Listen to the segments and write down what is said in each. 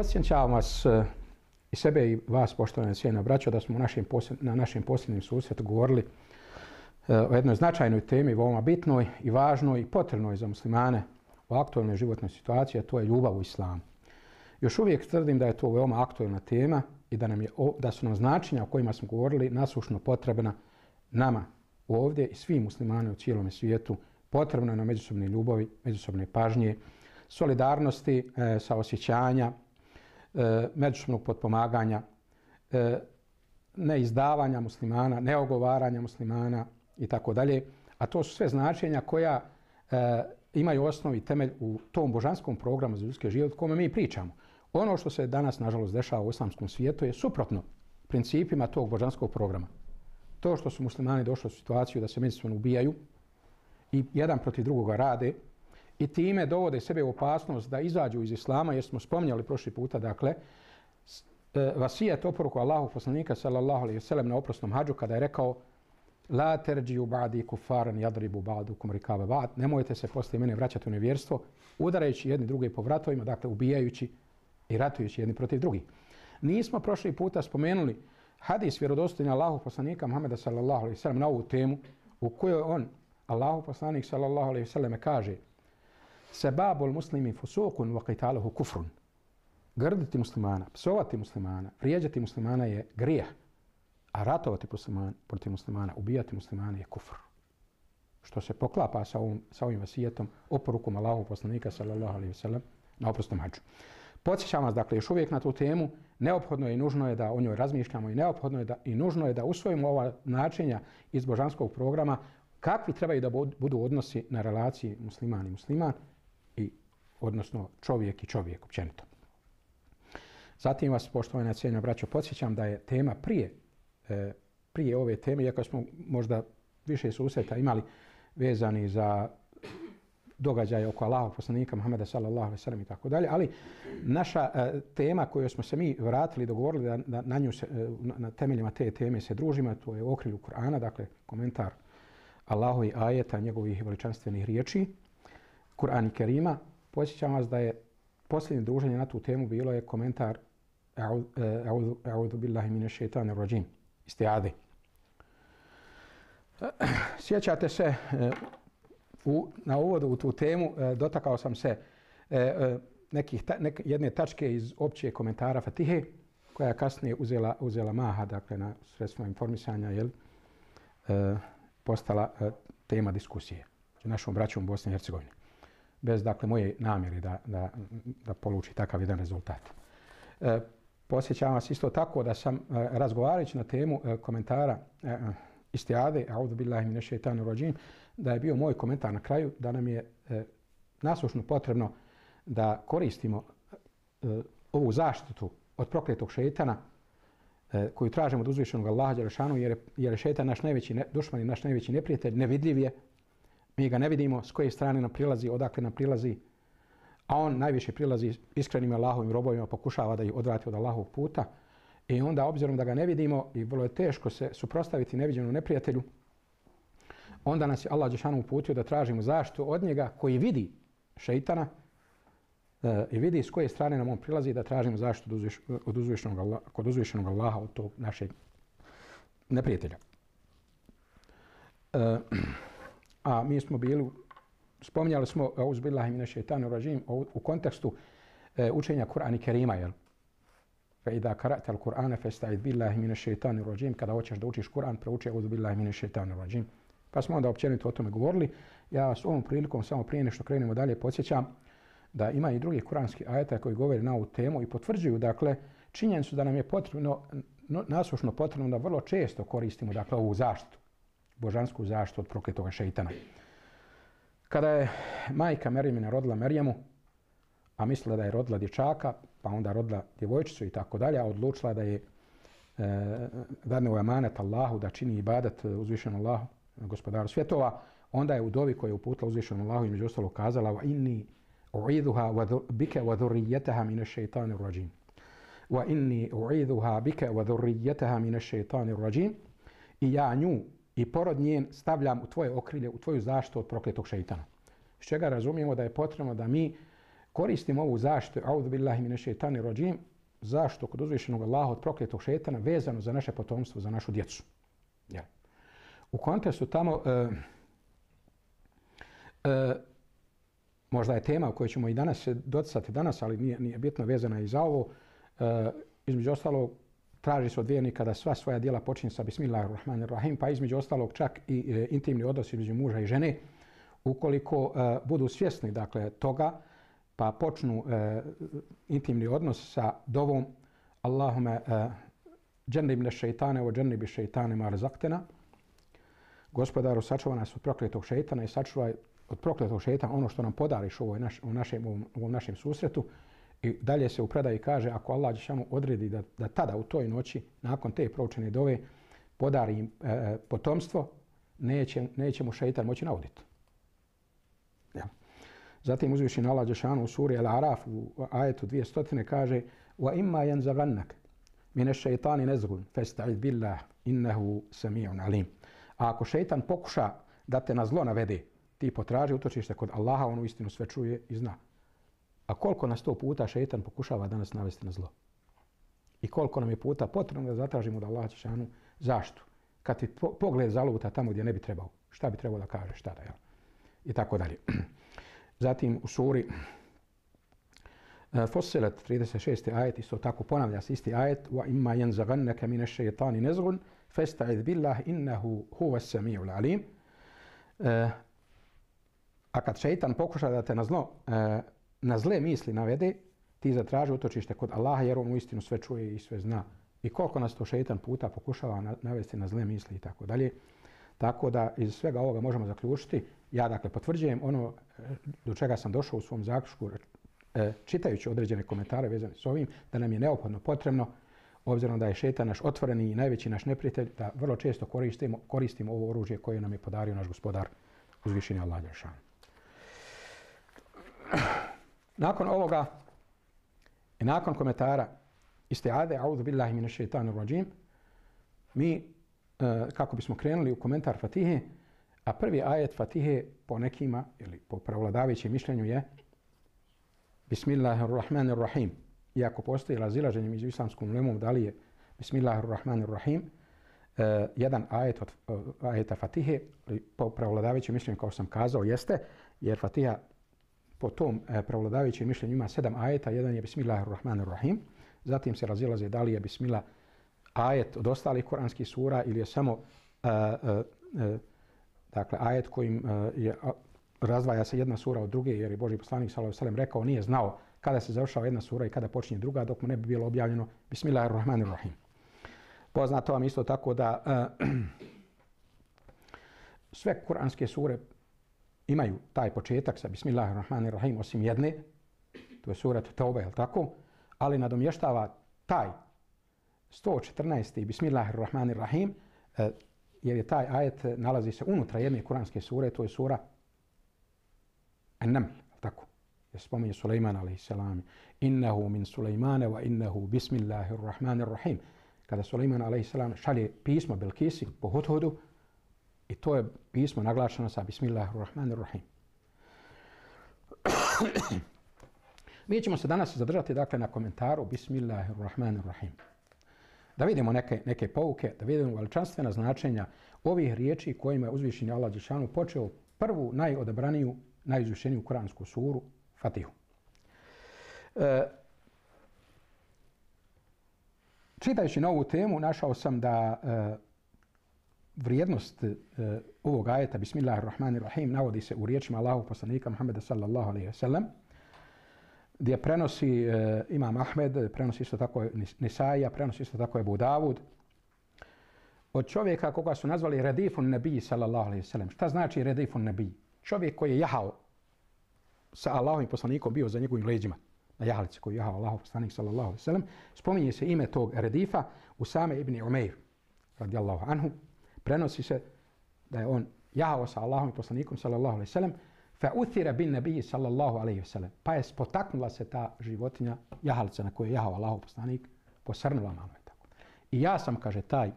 Podsjećam vas i sebe i vas, poštovane cijena braćo, da smo na našem posljednjem susretu govorili o jednoj značajnoj temi, veoma bitnoj i važnoj i potrebnoj za muslimane u aktualnoj životnoj situaciji, a to je ljubav u islamu. Još uvijek tvrdim da je to veoma aktualna tema i da su nam značenja o kojima smo govorili nasušno potrebna nama ovdje i svim muslimanima u cijelom svijetu. Potrebno je na međusobne ljubavi, međusobne pažnje, solidarnosti, saosjećanja, međusobnog potpomaganja, neizdavanja muslimana, neogovaranja muslimana i tako dalje. A to su sve značenja koja imaju osnovi i temelj u tom božanskom programu za ljudski život o kome mi pričamo. Ono što se danas, nažalost, dešava u islamskom svijetu je suprotno principima tog božanskog programa. To što su muslimani došli u situaciju da se međusobno ubijaju i jedan protiv drugoga rade i time dovode sebe u opasnost da izađu iz islama, jer smo spominjali prošli puta, dakle, vasijet oporuku Allahu poslanika sallallahu alejhi ve sellem na oprosnom hadžu kada je rekao: La terđiju ba'di kufaran jadribu ba'dukum rikaba ba'd. Nemojte se poslije mene vraćati u nevjerstvo, udarajući jedni druge po vratovima, dakle ubijajući i ratujući jedni protiv drugih. Nismo prošli puta spomenuli hadis vjerodostojni Allahu poslanika Muhameda sallallahu alejhi ve sellem na ovu temu, u kojoj on, Allahu poslanik sallallahu alejhi ve sellem, kaže: Sebabul muslimi fusukun wa qitaluhu kufrun. Grditi muslimana, psovati muslimana, vrijeđati muslimana je grijeh, a ratovati protiv muslimana, ubijati muslimana je kufr. Što se poklapa sa ovim vasijetom, oporukom Allahu poslanika sallallahu alejhi ve sellem na oprosnom hadžu. Podsjećam vas, dakle, još uvijek na tu temu, neophodno je i nužno je da o njoj razmišljamo i neophodno je i nužno je da usvojimo ova značenja iz božanskog programa, kakvi trebaju da budu odnosi na relaciji musliman i musliman, i odnosno čovjek i čovjek općenito. Zatim vas, poštovana cijenjena braćo, podsjećam da je tema prije ove teme, iako smo možda više susreta imali vezani za događaje oko Allahov poslanika Muhameda sallallahu alejhi ve sellem i tako dalje, ali naša tema koju smo se mi vratili, dogovorili da na nju na temeljima te teme se družimo, to je u okrilju Kur'ana, dakle komentar Allahovi ajeta, njegovih veličanstvenih riječi, Kur'an i Kerima. Podsjećam vas da je posljednje druženje na tu temu bilo je komentar A'udhu billahi minash shaitanir rajim, istiade. Sjećate se, na uvodu u tu temu dotakao sam se jedne tačke iz opće komentara Fatihe, koja je kasnije uzela maha, dakle, na sredstvo informisanja, postala tema diskusije u našom braćom u Bosni i Hercegovini. Bez, dakle, moje namjere da poluči takav jedan rezultat. Posjećam vas isto tako da sam, razgovarajući na temu komentara istiade, a'udhu billahi minash shaitanir rajim, da je bio moj komentar na kraju da nam je nasušno potrebno da koristimo ovu zaštitu od prokletog šejtana koju tražimo od uzvišenog Allaha dželešanu, jer je šejtan naš najveći dušman i naš najveći neprijatelj, nevidljiv je. Mi ga ne vidimo s koje strane nam prilazi, odakle nam prilazi, a on najviše prilazi iskrenim Allahovim robovima, pokušava da ih odvrati od Allahovog puta. I onda, obzirom da ga ne vidimo i vrlo je teško se suprotstaviti neviđenom neprijatelju, onda nas je Allah dželešanu uputio da tražimo zaštitu od njega koji vidi šejtana i vidi s koje strane nam on prilazi, da tražimo zaštitu kod uzvišenog Allaha od tog našeg neprijatelja. A mi smo spominjali smo a'udhu billahi minash shaitanir rajim u kontekstu učenja Kur'ana i Kerima, jel? Fa idha qara'ta al-Qur'ana fasta'id billahi minash shaitanir rajim. Kada hoćeš da učiš Kur'an, prouči a'udhu billahi minash shaitanir rajim. Pa smo onda općenito o tome govorili. Ja vas ovom prilikom, samo prije nešto krenemo dalje, podsjećam da ima i drugih kuranskih ajeta koji govore na ovu temu i potvrđuju, dakle, činjenicu da nam je potrebno, nasušno potrebno da vrlo često koristimo, dakle, ovu zaštitu, božansku zaštitu od prokletoga šejtana. Kada je majka Merjemina rodila Merjemu, a mislila da je rodila dječaka, pa onda rodila djevojčicu i tako dalje, a odlučila da je dadne u emanet Allahu, da čini ibadet uzvišenom Allahu, gospodaru svjetova, onda je u dovi koju je uputila uzvišenom Allahu između ostalog kazala: wa inni u'idhuha bika wa dhurriyyataha minash shaitanir rajim. Wa inni u'idhuha bika wa dhurriyyataha minash shaitanir rajim. I ja nju i porod njen stavljam u tvoje okrilje, u tvoju zaštitu od prokletog šejtana. Iz čega razumijemo da je potrebno da mi koristimo ovu zaštitu, audhu billahi mine šeitani rajim, zaštitu kod uzvišenog Allaha od prokletog šetana vezano za naše potomstvo, za našu djecu. Ja. U kontekstu tamo možda je tema o kojoj ćemo i danas doticati danas, ali nije bitno vezana i za ovo. Između ostalog, traži se od vjernika da sva svoja djela počinje sa Bismillahirrahmanirrahim, pa između ostalog čak i intimni odnos između muža i žene. Ukoliko budu svjesni dakle, toga, pa počnu intimni odnos sa dovom Allahume džennibne šeitane o džennibi šeitane ma razaktena. Gospodaru, sačuvaj nas od prokletog šeitana i sačuvaj od prokletog šeitana ono što nam podariš u ovom našem susretu. I dalje se u predaji kaže, ako Allah dželešanu odredi da tada u toj noći, nakon te proučene dove, podari im potomstvo, neće mu šeitan moći nauditi. Ja. Zatim uzvišeni Allah dželešanu u suri Al-Araf u ajetu 200 kaže wa imma yanzaghannak min ash-shaytani nazghun fasta'id billah innahu sami'un alim. A ako šeitan pokuša da te na zlo navede, ti potraži utočište kod Allaha, on uistinu sve čuje i zna. A koliko nas to puta šeitan pokušava danas navesti na zlo? I koliko nam je puta potrebno da zatražimo da Allah dželešanu zaštitu? Kad ti pogled zaluta tamo gdje ne bi trebao, šta bi trebao da kažeš tada, jel? I tako dalje. Zatim u suri Fussilet 36. ajet isto tako ponavlja se isti ajet wa imma yanzaghannaka min ash-shaytani nazghun fasta'id billah innahu huwas sami'ul alim. A kad šejtan pokuša da te na zle misli navede, ti zatraži utočište kod Allaha jer on uistinu sve čuje i sve zna. I koliko nas to šejtan puta pokušava navesti na zle misli i tako dalje. Tako da iz svega ovoga možemo zaključiti, ja dakle potvrđujem ono do čega sam došao u svom zaključku čitajući određene komentare vezane s ovim, da nam je neophodno potrebno, obzirom da je šejtan naš otvoreni i najveći naš neprijatelj, da vrlo često koristimo ovo oružje koje nam je podario naš gospodar uzvišeni Allah dželešanu. Nakon ovoga i nakon komentara istiade audhu billahi minash shaitanir rajim, mi kako bismo krenuli u komentar Fatihe, a prvi ajet Fatihe po nekima ili po prevladavajućem mišljenju je Bismillahirrahmanirrahim. Iako postoji razilaženje među islamskom ulemom da li je Bismillahirrahmanirrahim jedan ajet od ajeta Fatihe, po prevladavajućem mišljenju kao sam kazao jeste, jer Fatiha po tom prevladavajućem mišljenju ima 7 ajeta, jedan je Bismillahirrahmanirrahim, zatim se razilaze da li je Bismillah ajet od ostalih kuranskih sura ili je samo dakle ajet kojim razdvaja se jedna sura od druge, jer je Božji poslanik sallallahu alejhi ve sellem rekao nije znao kada se završava jedna sura i kada počinje druga dok mu ne bi bilo objavljeno Bismillahirrahmanirrahim. Poznato vam isto tako da sve kuranske sure imaju taj početak sa Bismillahirrahmanirrahim osim jedne, to je sura Tauba, je li tako? Ali nadomještava taj 114. Bismillahirrahmanirrahim, jer je taj ajet nalazi se unutra jedne kuranske sure, to je sura An-Naml, tako. Jer spominje Sulejman a.s. Innehu min Sulejmane wa innehu bismillahirrahmanirrahim. Kada Sulejman a.s. šalje pismo Belkisi po Hudhudu, i to je pismo naglašeno sa bismillahirrahmanirrahim. Mi ćemo se danas zadržati dakle na komentaru Bismillahirrahmanirrahim. Da vidimo neke pouke, da vidimo veličanstvena značenja ovih riječi kojima je uzvišeni Allah dželešanu počeo prvu najodabraniju, najizvišeniju kuransku suru Fatihu. Čitajući na ovu temu našao sam da vrijednost ovog ajeta Bismillahirrahmanirrahim navodi se u riječima Allahovog poslanika Muhameda sallallahu alejhi ve sellem, gdje prenosi Imam Ahmed, prenosi isto tako Nisaija, prenosi isto tako Ebu Davud, od čovjeka koga su nazvali Redifun Nebiji sallallahu alejhi ve sellem. Šta znači Redifun Nebiji? Čovjek koji je jahao sa Allahovim poslanikom, bio za njegovim leđima, na jahalici koji je jahao Allahov poslanik sallallahu alejhi ve sellem. Spominje se ime tog Redifa Usame ibn Umeir radijallahu anhu. Prenosi se da je on jahao sa Allahovim poslanikom sallallahu alejhi ve sellem, fa uthira bin nabiji sallallahu alejhi ve sellem. Pa je spotaknula se ta životinja, jahalica na kojoj je jahao Allahov poslanik, posrnula malo je tako. I ja sam, kaže, taj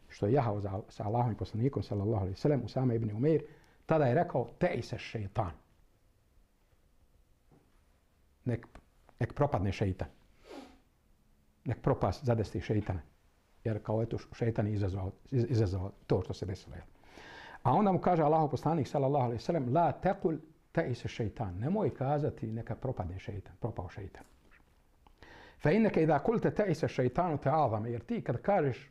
što je jahao sa Allahovim poslanikom sallallahu alejhi ve sellem, Usame ibn Umeir, tada je rekao te'ise šejtan. nek propadne šeitan. Nek propast zadesti šeitana. Jer kao eto šeitan je izazvao to što se desilo. A onda mu kaže Allahov poslanik sallallahu alejhi ve sellem la taqul ta'isa šeitan. Nemoj kazati neka propadne šeitan, propao šeitan. Fa innaka idha qulta ta'isa šeitanu ta'azama, jer ti kad kažeš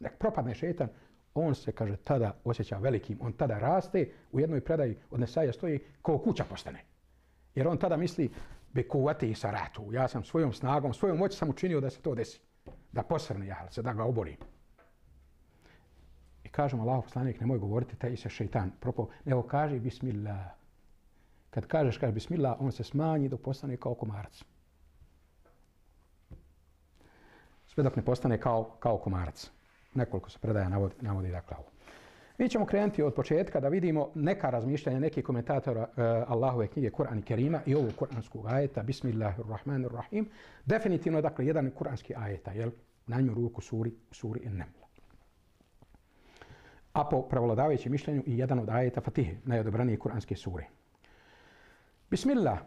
nek propadne šeitan, on se, kaže, tada osjeća velikim, on tada raste, u jednoj predaji od Nesaija stoji kao kuća postane. Jer on tada misli be kuvati i saratu, ja sam svojom snagom, svojom moći sam učinio da se to desi, da posrne ja, da ga oborim. I kažemo Allahov poslanik, nemoj govoriti taj se šeitan propao, nego kaže bismillah. Kad kažeš bismillah, on se smanji dok postane kao komarac. Sve dok ne postane kao komarac. Nekoliko se predaja navodi dakle ovo. Mi ćemo krenuti od početka da vidimo neka razmišljanja nekih komentatora Allahove knjige Kur'an i Kerima i ovog kuranskog ajeta Bismillahirrahmanirrahim. Definitivno dakle jedan kuranski ajeta, jel? Na njemu ruku suri An-Naml. A po prevladavajućem mišljenju i jedan od ajeta Fatihe, najodobranije kuranske sure. Bismillah,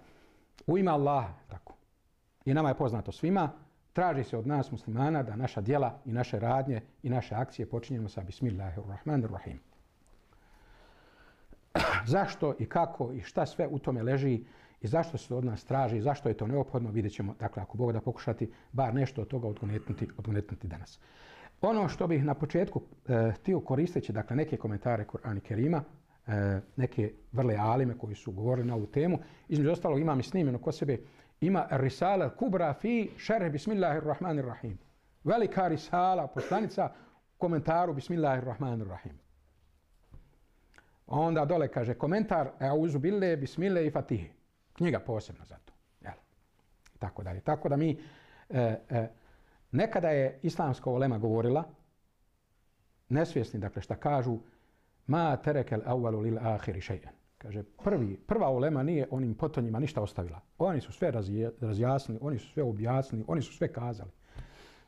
u ime Allaha, tako. I nama je poznato svima, traži se od nas muslimana da naša djela i naše radnje i naše akcije počinjemo sa Bismillahirrahmanirrahim. Zašto i kako i šta sve u tome leži i zašto se od nas traži, zašto je to neophodno, vidjet ćemo, dakle, ako Bog da pokušati, bar nešto od toga odgonetnuti danas. Ono što bih na početku htio koristeći, dakle, neke komentare Kur'ana i Kerima, neke vrle alime koji su govorili na ovu temu, između ostalog imam i snimljeno kod sebe, ima risala kubra fi šerh Bismillahirrahmanirrahim. Velika risala, poslanica, komentaru Bismillahirrahmanirrahim. Onda dole kaže komentar Auzu bille, Bismillah i Fatihe. Knjiga posebno za to. Jel? Tako dalje. Tako da mi nekada je islamska ulema govorila, nesvjesni, dakle, šta kažu, ma terekel awwalu lil akhiri shay'an. Kaže, prva ulema nije onim potonjima ništa ostavila. Oni su sve razjasnili, oni su sve objasnili, oni su sve kazali.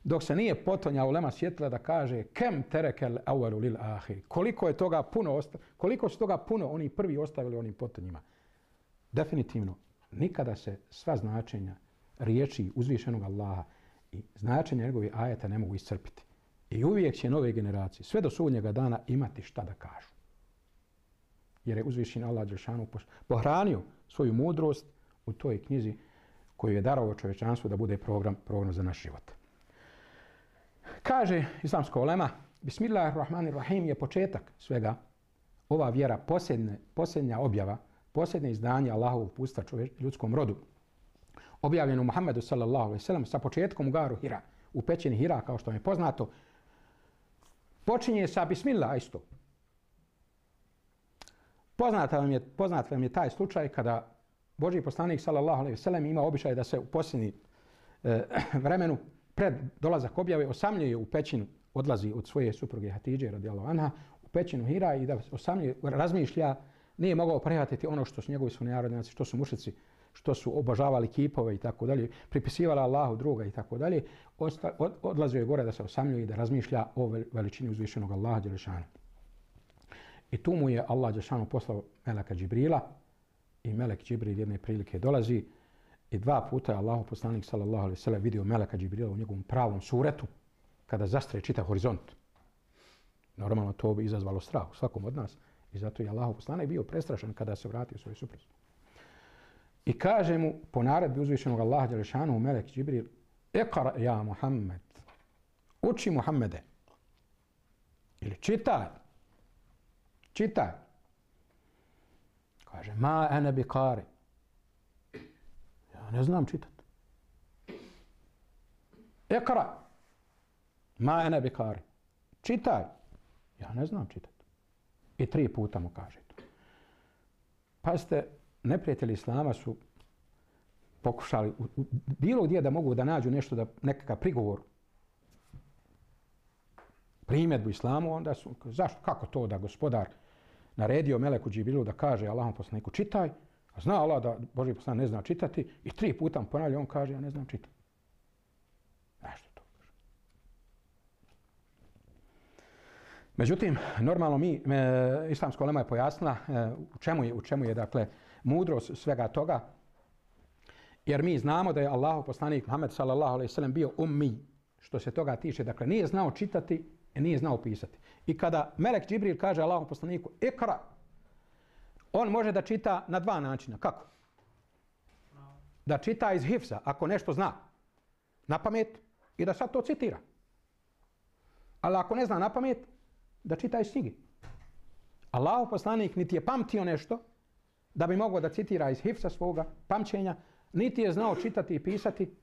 Dok se nije potonja ulema sjetila da kaže kem terekel awwalu lil akhiri. Koliko su toga puno oni prvi ostavili onim potonjima. Definitivno, nikada se sva značenja riječi uzvišenog Allaha i značenja njegovih ajeta ne mogu iscrpiti. I uvijek će nove generacije, sve do sudnjega dana, imati šta da kažu. Jer je uzvišen Allah dželešanu pohranio svoju mudrost u toj knjizi koju je darovao čovječanstvu da bude program za naš život. Kaže islamska ulema, Bismillahirrahmanirrahim je početak svega. Ova vjera, posljednja objava, posljednje izdanje Allahovog uputstva ljudskom rodu, objavljeno Muhammedu sallallahu alejhi ve sellem sa početkom u garu Hira, u pećini Hira, kao što je poznato, počinje sa Bismillah isto. Poznat vam je taj slučaj kada Božji poslanik sallallahu alejhi ve sellem ima običaj da se u posljednji vremenu pred dolazak objave osamljuje u pećinu, odlazi od svoje supruge Hatidže radijallahu anha u pećinu Hira i da osamljuje, razmišlja, nije mogao prihvatiti ono što su njegovi sunarodnjaci, što su mušici, što su obožavali kipove i tako dalje, pripisivali Allahu druga i tako dalje, odlazio je gore da se osamljuje i da razmišlja o veličini uzvišenog Allaha dželešanu. I tu mu je Allah dželešanu poslao meleka Džibrila i melek Džibril jedne prilike dolazi i dva puta je Allahov poslanik sallallahu alejhi ve sellem vidio meleka Džibrila u njegovom pravom suretu kada zastre čitav horizont. Normalno to bi izazvalo strah u svakom od nas i zato je Allahov poslanik bio prestrašen kada se vratio svojoj supruzi. I kaže mu po naredbi uzvišenog Allaha dželešanu melek Džibril: "Iqra ja Muhammed." Uči Muhammede. Ili čitaj. Čitaj. Kaže: "Ma ana biqari." Ja ne znam čitati. Iqra. Ma ana biqari. Čitaj. Ja ne znam čitati. I 3 puta mu kaže to. Pazite, neprijatelji islama su pokušali bilo gdje da mogu da nađu nešto, da nekakav prigovor, primjedbu islamu, onda su, zašto, kako to da gospodar naredio meleku Džibrilu da kaže Allahom poslaniku čitaj, a zna Allah da Božji poslanik ne zna čitati i 3 puta mu ponavlja, on kaže ja ne znam čitati. Zašto to? Međutim, normalno islamska ulema je pojasnila u čemu je dakle mudrost svega toga Jer mi znamo da je Allahov poslanik Muhammed sallallahu alejhi ve sellem bio ummi, što se toga tiče, dakle nije znao čitati i nije znao pisati. I kada melek Džibril kaže Allahov poslaniku ikra, on može da čita na dva načina. Kako? Da čita iz hifza, ako nešto zna, na pamet, i da sad to citira. Ali ako ne zna na pamet, da čita iz knjige. Allahov poslanik niti je pamtio nešto da bi mogao da citira iz hifza svoga pamćenja, niti je znao čitati i pisati,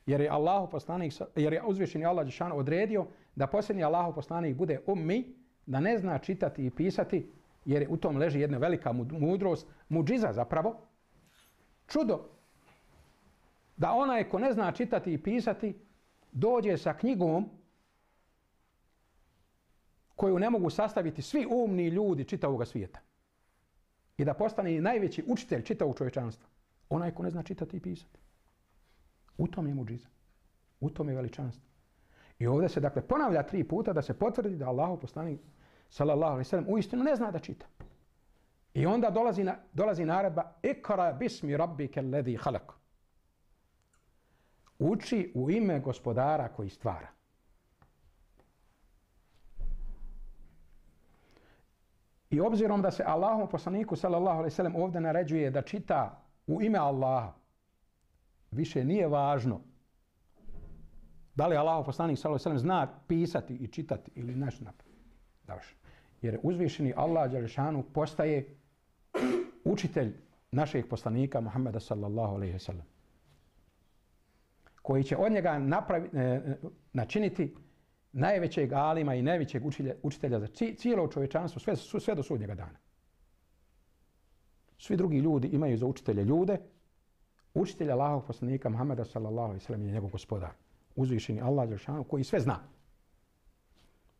jer je Allahov poslanik, jer je uzvišeni Allah dželešanu odredio da posljednji Allahov poslanik bude ummi, da ne zna čitati i pisati, jer u tom leži jedna velika mudrost, mudžiza zapravo, čudo, da onaj ko ne zna čitati i pisati dođe sa knjigom koju ne mogu sastaviti svi umni ljudi čitavog svijeta i da postane najveći učitelj čitavog čovječanstva. Onaj ko ne zna čitati i pisati. U tom je mudžiza. U tom je veličanstvo. I ovdje se dakle ponavlja 3 puta da se potvrdi da Allahov poslanik sallallahu alejhi ve sellem uistinu ne zna da čita. I onda dolazi naredba ikra bismi rabbika alladhi khalaq. Uči u ime gospodara koji stvara. I obzirom da se Allahom poslaniku sallallahu alejhi ve sellem ovdje naređuje da čita u ime Allaha, više nije važno da li Allahov poslanik sallallahu alejhi ve sellem zna pisati i čitati ili nešto napraviti. Jer uzvišeni Allah dželešanu postaje učitelj našeg poslanika Muhammeda sallallahu alejhi ve sellem, koji će od njega načiniti najvećeg alima i najvećeg učitelja za cijelo čovječanstvo sve do sudnjega dana. Svi drugi ljudi imaju za učitelje ljude. Učitelj Allahovog poslanika Muhammeda sallallahu alejhi ve sellem je njegov gospodar, uzvišeni Allah dželešanu koji sve zna.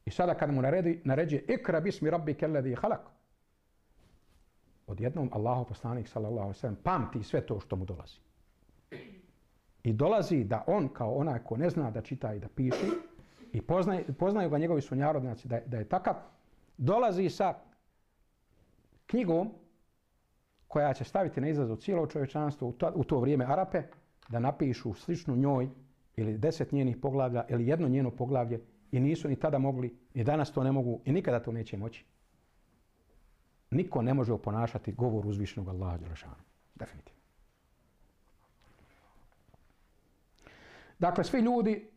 I sada kad mu naređuje ikra bismi rabbika alladhi khalaq, odjednom Allahov poslanik sallallahu alejhi ve sellem pamti sve to što mu dolazi. I dolazi da on kao onaj ko ne zna da čita i da piše i poznaju ga njegovi sunarodnjaci da je takav, dolazi sa knjigom koja će staviti na izazov cijelo čovječanstvo u to vrijeme Arape da napišu sličnu njoj ili 10 njenih poglavlja ili jedno njeno poglavlje i nisu ni tada mogli, ni danas to ne mogu i nikada to neće moći. Niko ne može oponašati govor uzvišenog Allaha dželešanu. Definitivno. Dakle, svi ljudi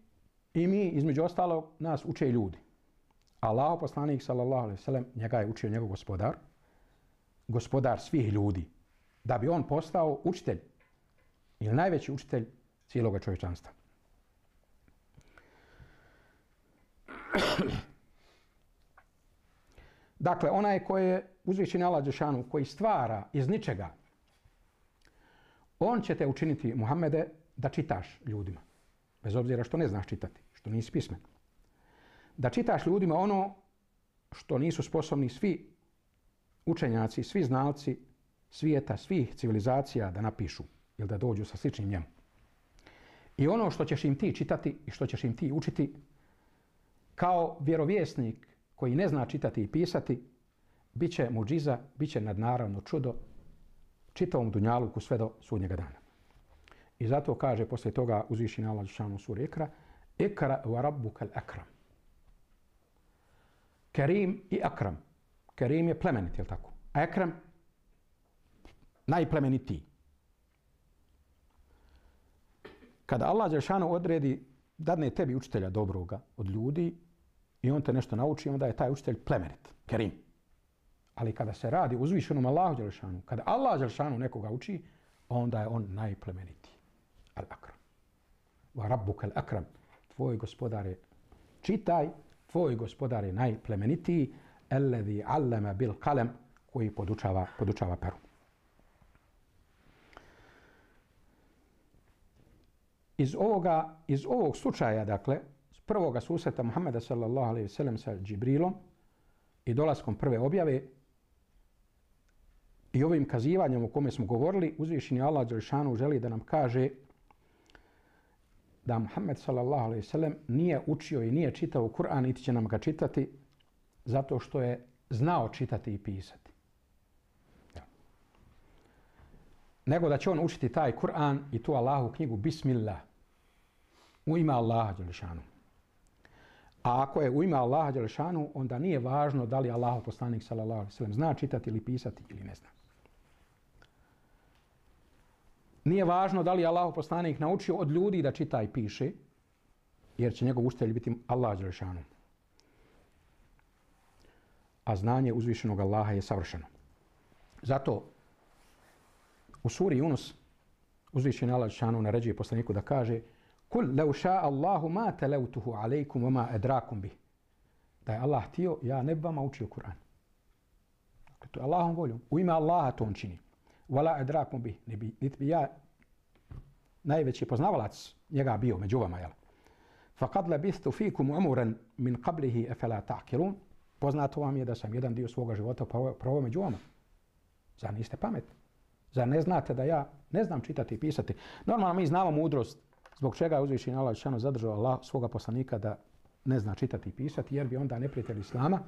i mi, između ostalog, nas uče ljudi. Allahov poslanik, sallallahu alejhi ve sellem, njega je učio njegov gospodar, gospodar svih ljudi, da bi on postao učitelj ili najveći učitelj cijelog čovječanstva. Dakle, onaj koji je uzvišeni Allah dželešanu, koji stvara iz ničega, on će te učiniti, Muhammede, da čitaš ljudima. Bez obzira što ne znaš čitati, što nisi pismen. Da čitaš ljudima ono što nisu sposobni svi učenjaci, svi znalci svijeta, svih civilizacija da napišu ili da dođu sa sličnim njemu. I ono što ćeš im ti čitati i što ćeš im ti učiti kao vjerovjesnik koji ne zna čitati i pisati, bit će mudžiza, bit će nadnaravno čudo čitavom dunjaluku sve do sudnjega dana. I zato kaže poslije toga uzvišeni Allah dželešanu u suri Ikra, Ikra wa rabbukal akram. Kerim i akram. Kerim je plemenit, je li tako? A akram najplemenitiji. Kada Allah dželešanu odredi, dadne tebi učitelja dobroga od ljudi i on te nešto nauči, onda je taj učitelj plemenit, kerim. Ali kada se radi o uzvišenom Allahu dželešanu, kada Allah dželešanu nekoga uči, onda je on najplemenitiji. Al-akram. Wa rabbukal akram. Tvoj gospodar je, čitaj, tvoj gospodar je najplemenitiji, alladhi allama bil qalam, koji podučava peru. Iz ovog slučaja, dakle, s prvoga susreta Muhammeda sallallahu alejhi ve sellem sa Džibrilom i dolaskom prve objave i ovim kazivanjem o kome smo govorili, uzvišeni Allah dželešanu želi da nam kaže da Muhammed sallallahu alejhi ve sellem nije učio i nije čitao Kur'an, niti će nam ga čitati zato što je znao čitati i pisati. Ja. nego da će on učiti taj Kur'an i tu Allahu knjigu Bismillah. U ime Allaha dželešanu. A ako je u ime Allaha dželešanu, onda nije važno da li Allahov poslanik sallallahu alejhi ve sellem zna čitati ili pisati ili ne zna. Nije važno da li Allahov poslanik naučio od ljudi da čita i piše, jer će njegov učitelj biti Allah dželešanu. A znanje uzvišenog Allaha je savršeno. Zato u suri Yunus uzvišeni Allah dželešanu naređuje poslaniku da kaže: Kul law sha'a Allahu ma talawtuhu alaykum wa ma adrakum bih. Da je Allah htio, ja ne bi vama učio Kur'an. Dakle, to je Allahom voljom. U ime Allaha to on čini. Wala adrakum bih. Niti bi ja najveći poznavalac njega bio među vama. Faqad labithtu fikum umuran min qablihi afala ta'qilun. Poznato vam je da sam jedan dio svoga života proveo među vama. Zar niste pametni? Zar ne znate da ja ne znam čitati i pisati? Normalno mi znamo mudrost zbog čega je uzvišeni Allah dželešanu zadržao svoga poslanika da ne zna čitati i pisati, jer bi onda neprijatelji islama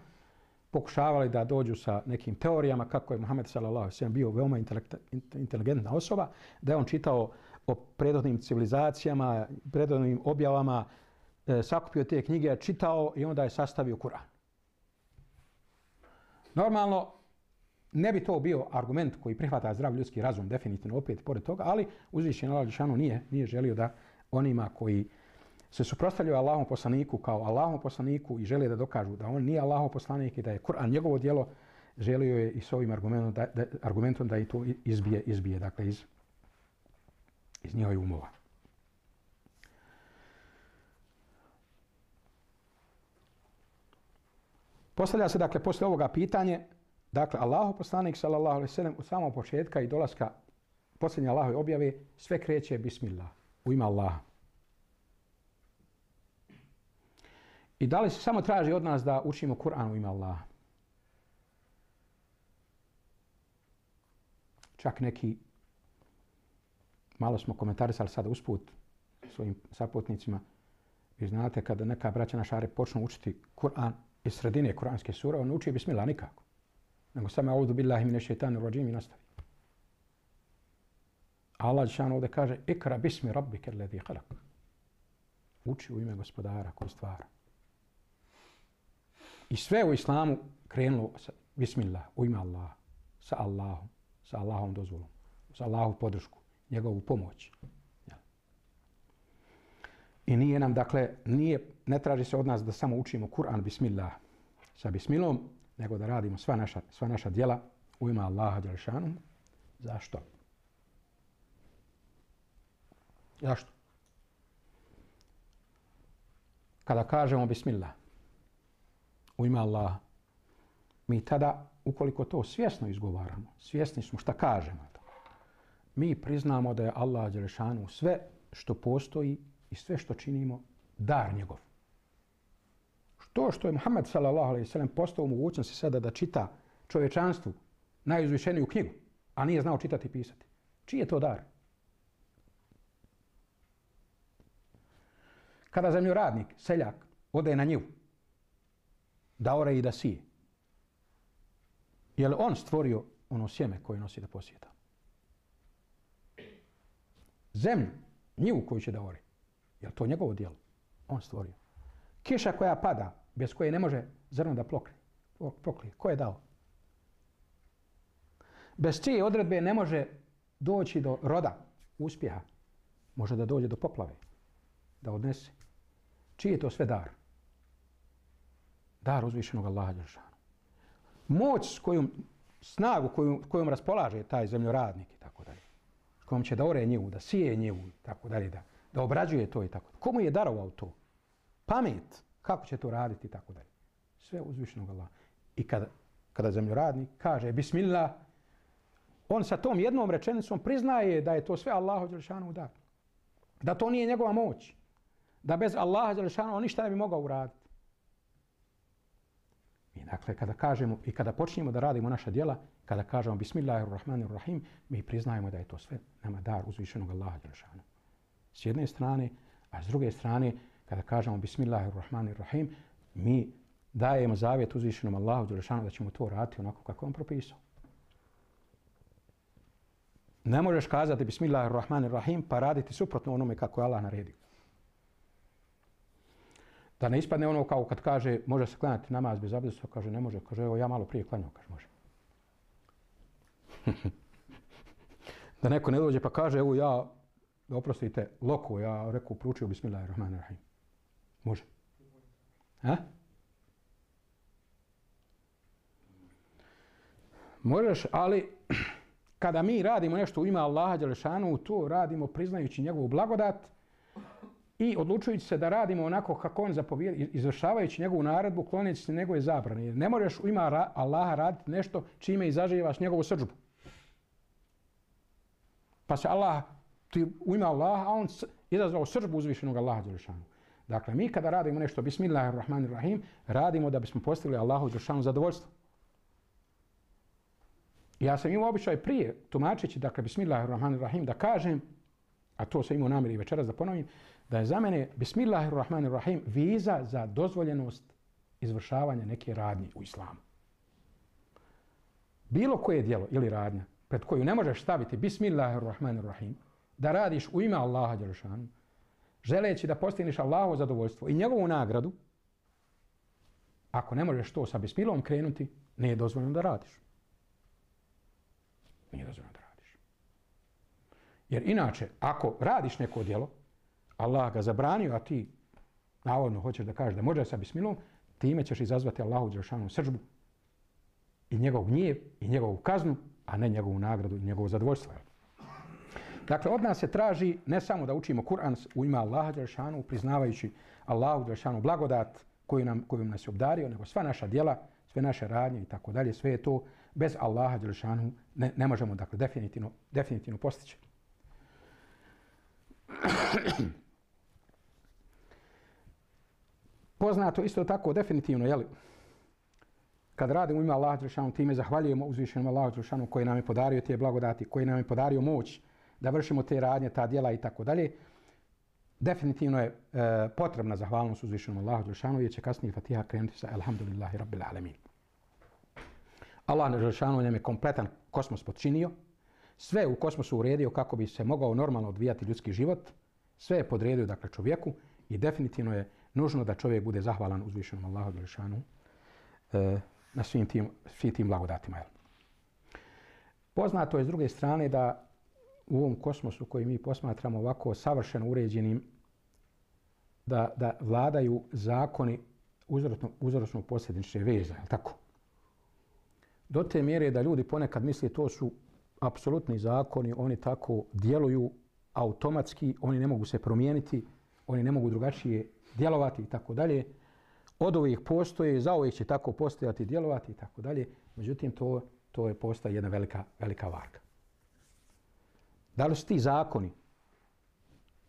pokušavali da dođu sa nekim teorijama kako je Muhammed sallallahu alejhi ve sellem bio veoma inteligentna osoba, da je on čitao o prethodnim civilizacijama, prethodnim objavama, sakupio te knjige, čitao i onda je sastavio Kur'an. Normalno, ne bi to bio argument koji prihvata zdrav ljudski razum, definitivno opet pored toga, ali uzvišeni Allah dželešanu nije želio da onima koji se suprotstavljaju Allahovom poslaniku kao Allahovom poslaniku i žele da dokažu da on nije Allahov poslanik i da je Kur'an njegovo djelo, želio je i s ovim argumentom da i to izbije dakle, iz njihovih umova. Postavlja se dakle posle ovoga pitanje, dakle Allahov poslanik sallallahu alejhi ve sellem od samog početka i dolaska posljednje Allahove objave sve kreće Bismillah, u ime Allaha. I da li se samo traži od nas da učimo Kur'an u ime Allaha? Čak neki, malo smo komentarisali sada usput svojim saputnicima, vi znate kada neka braća na šare počnu učiti Kur'an iz sredine kuranske sure, on uči Bismillah nikako. Nego samo audu billahi mine šeitanir rajim i nastavi. Allah dželešanu ovdje kaže: Ikra bismi rabbike alladhi khalaq. Uči u ime gospodara koji stvara. I sve u islamu krenulo sa Bismillah, u ime Allaha, sa Allahom dozvolom, sa Allahovu podršku, njegovu pomoć. I nije nam, dakle, ne traži se od nas da samo učimo Kur'an Bismillah sa Bismilom, nego da radimo sva naša djela u ime Allaha dželešanu. Zašto? Zašto? Kada kažemo Bismillah u ime Allaha, mi tada, ukoliko to svjesno izgovaramo, svjesni smo šta kažemo, mi priznamo da je Allah dželešanu sve što postoji i sve što činimo dar njegov. To što je Muhammed sallallahu alejhi ve sellem postao u mogućnosti sada da čita čovječanstvu najuzvišeniju knjigu, a nije znao čitati i pisati. Čiji je to dar? Kada zemljoradnik, seljak, ode na njivu, da ore i da sije, je li on stvorio ono sjeme koje nosi da posijeta? Zemlju, njivu koju će da ore, je li to njegovo djelo? On stvorio. Kiša koja pada, bez koje ne može zrno da poklije. Ko je dao? Bez čije odredbe ne može doći do roda, uspjeha. Može da dođe do poplave, da odnese. Čiji je to sve dar? Dar uzvišenog Allaha dželešanu. Moć s kojom, snagu kojom raspolaže taj zemljoradnik i tako dalje. S kojom će da ore njivu, da sije njivu i tako dalje, da obrađuje to i tako dalje. Komu je darovao to? Pamet, kako će to raditi i tako dalje. Sve uzvišenog Allaha. I kada zemljoradnik kaže Bismillah, on sa tom jednom rečenicom priznaje da je to sve Allahu dželešanu dar. Da to nije njegova moć. Da bez Allaha dželešanu on ništa ne bi mogao uraditi. I dakle, kada kažemo i kada počnemo da radimo naša djela, kada kažemo Bismillahirrahmanirrahim, mi priznajemo da je to sve nama dar uzvišenog Allaha dželešanu. S jedne strane, a s druge strane, kada kažemo Bismillahirrahmanirrahim, mi dajemo zavjet uzvišenom Allahu dželešanu da ćemo to raditi onako kako on propisao. Ne možeš kazati Bismillahirrahmanirrahim pa raditi suprotno onome kako je Allah naredio. Da ne ispadne ono kao kad kaže može se klanjati namaz bez abdesta, kaže ne može, kaže evo ja malo prije klanjao, kaže može. Da neko ne dođe pa kaže evo ja, oprostite, loko, ja rekao proučio Bismillahirrahmanirrahim. Može. A? Možeš, ali kada mi radimo nešto u ime Allaha dželešanu, to radimo priznajući njegovu blagodat i odlučujući se da radimo onako kako on zapovijeda, izvršavajući njegovu naredbu, kloneći se njegove zabrane. Jer ne možeš u ime Allaha raditi nešto čime izazivaš njegovu srdžbu. Pa se Allah, ti u ime Allaha, a on izazvao srdžbu uzvišenog Allaha dželešanu. Dakle, mi kada radimo nešto Bismillahirrahmanirrahim, radimo da bismo postigli Allahu dželešanu zadovoljstvo. Ja sam imao običaj prije, tumačeći, dakle, Bismillahirrahmanirrahim, da kažem, a to sam imao namjer i večeras da ponovim, da je za mene Bismillahirrahmanirrahim viza za dozvoljenost izvršavanja neke radnje u islamu. Bilo koje djelo ili radnja pred koju ne možeš staviti Bismillahirrahmanirrahim, da radiš u ime Allaha dželešanu, želeći da postigneš Allahovo zadovoljstvo i njegovu nagradu, ako ne možeš to sa Bismillahom krenuti, nije dozvoljeno da radiš. Nije dozvoljeno da radiš. Jer inače, ako radiš neko djelo, Allah ga zabranio, a ti navodno hoćeš da kažeš da može sa Bismillahom, time ćeš izazvati Allahu dželešanu srdžbu i njegov gnjev i njegovu kaznu, a ne njegovu nagradu i njegovo zadovoljstvo. Dakle, od nas se traži ne samo da učimo Kur'an u ime Allaha dželešanu, priznavajući Allahu dželešanu blagodat kojom nas je obdario, nego sva naša djela, sve naše radnje i tako dalje, sve je to bez Allaha dželešanu ne možemo, dakle, definitivno postići. Poznato isto tako definitivno, jeli, kad radimo u ime Allaha dželešanu, time zahvaljujemo uzvišenom Allahu dželešanu koji nam je podario te blagodati, koji nam je podario moć da vršimo te radnje, ta djela i tako dalje. Definitivno je potrebna zahvalnost uzvišenom Allahu dželešanu, jer će kasnije Fatiha krenuti sa Elhamdulillahi Rabbil Alamin. Allah dželešanu nam je kompletan kosmos potčinio, sve u kosmosu uredio kako bi se mogao normalno odvijati ljudski život, sve je podredio, dakle, čovjeku i definitivno je nužno da čovjek bude zahvalan uzvišenom Allahu dželešanu na svim tim blagodatima. Poznato je s druge strane da u ovom kosmosu koji mi posmatramo ovako savršeno uređenim, da vladaju zakoni uzročno-posljedične veze, je li tako? Do te mjere da ljudi ponekad misle to su apsolutni zakoni, oni tako djeluju automatski, oni ne mogu se promijeniti, oni ne mogu drugačije djelovati i tako dalje. Od uvijek postoje, za uvijek će tako postojati, djelovati i tako dalje. Međutim, to je postaje jedna velika varka. Da li su ti zakoni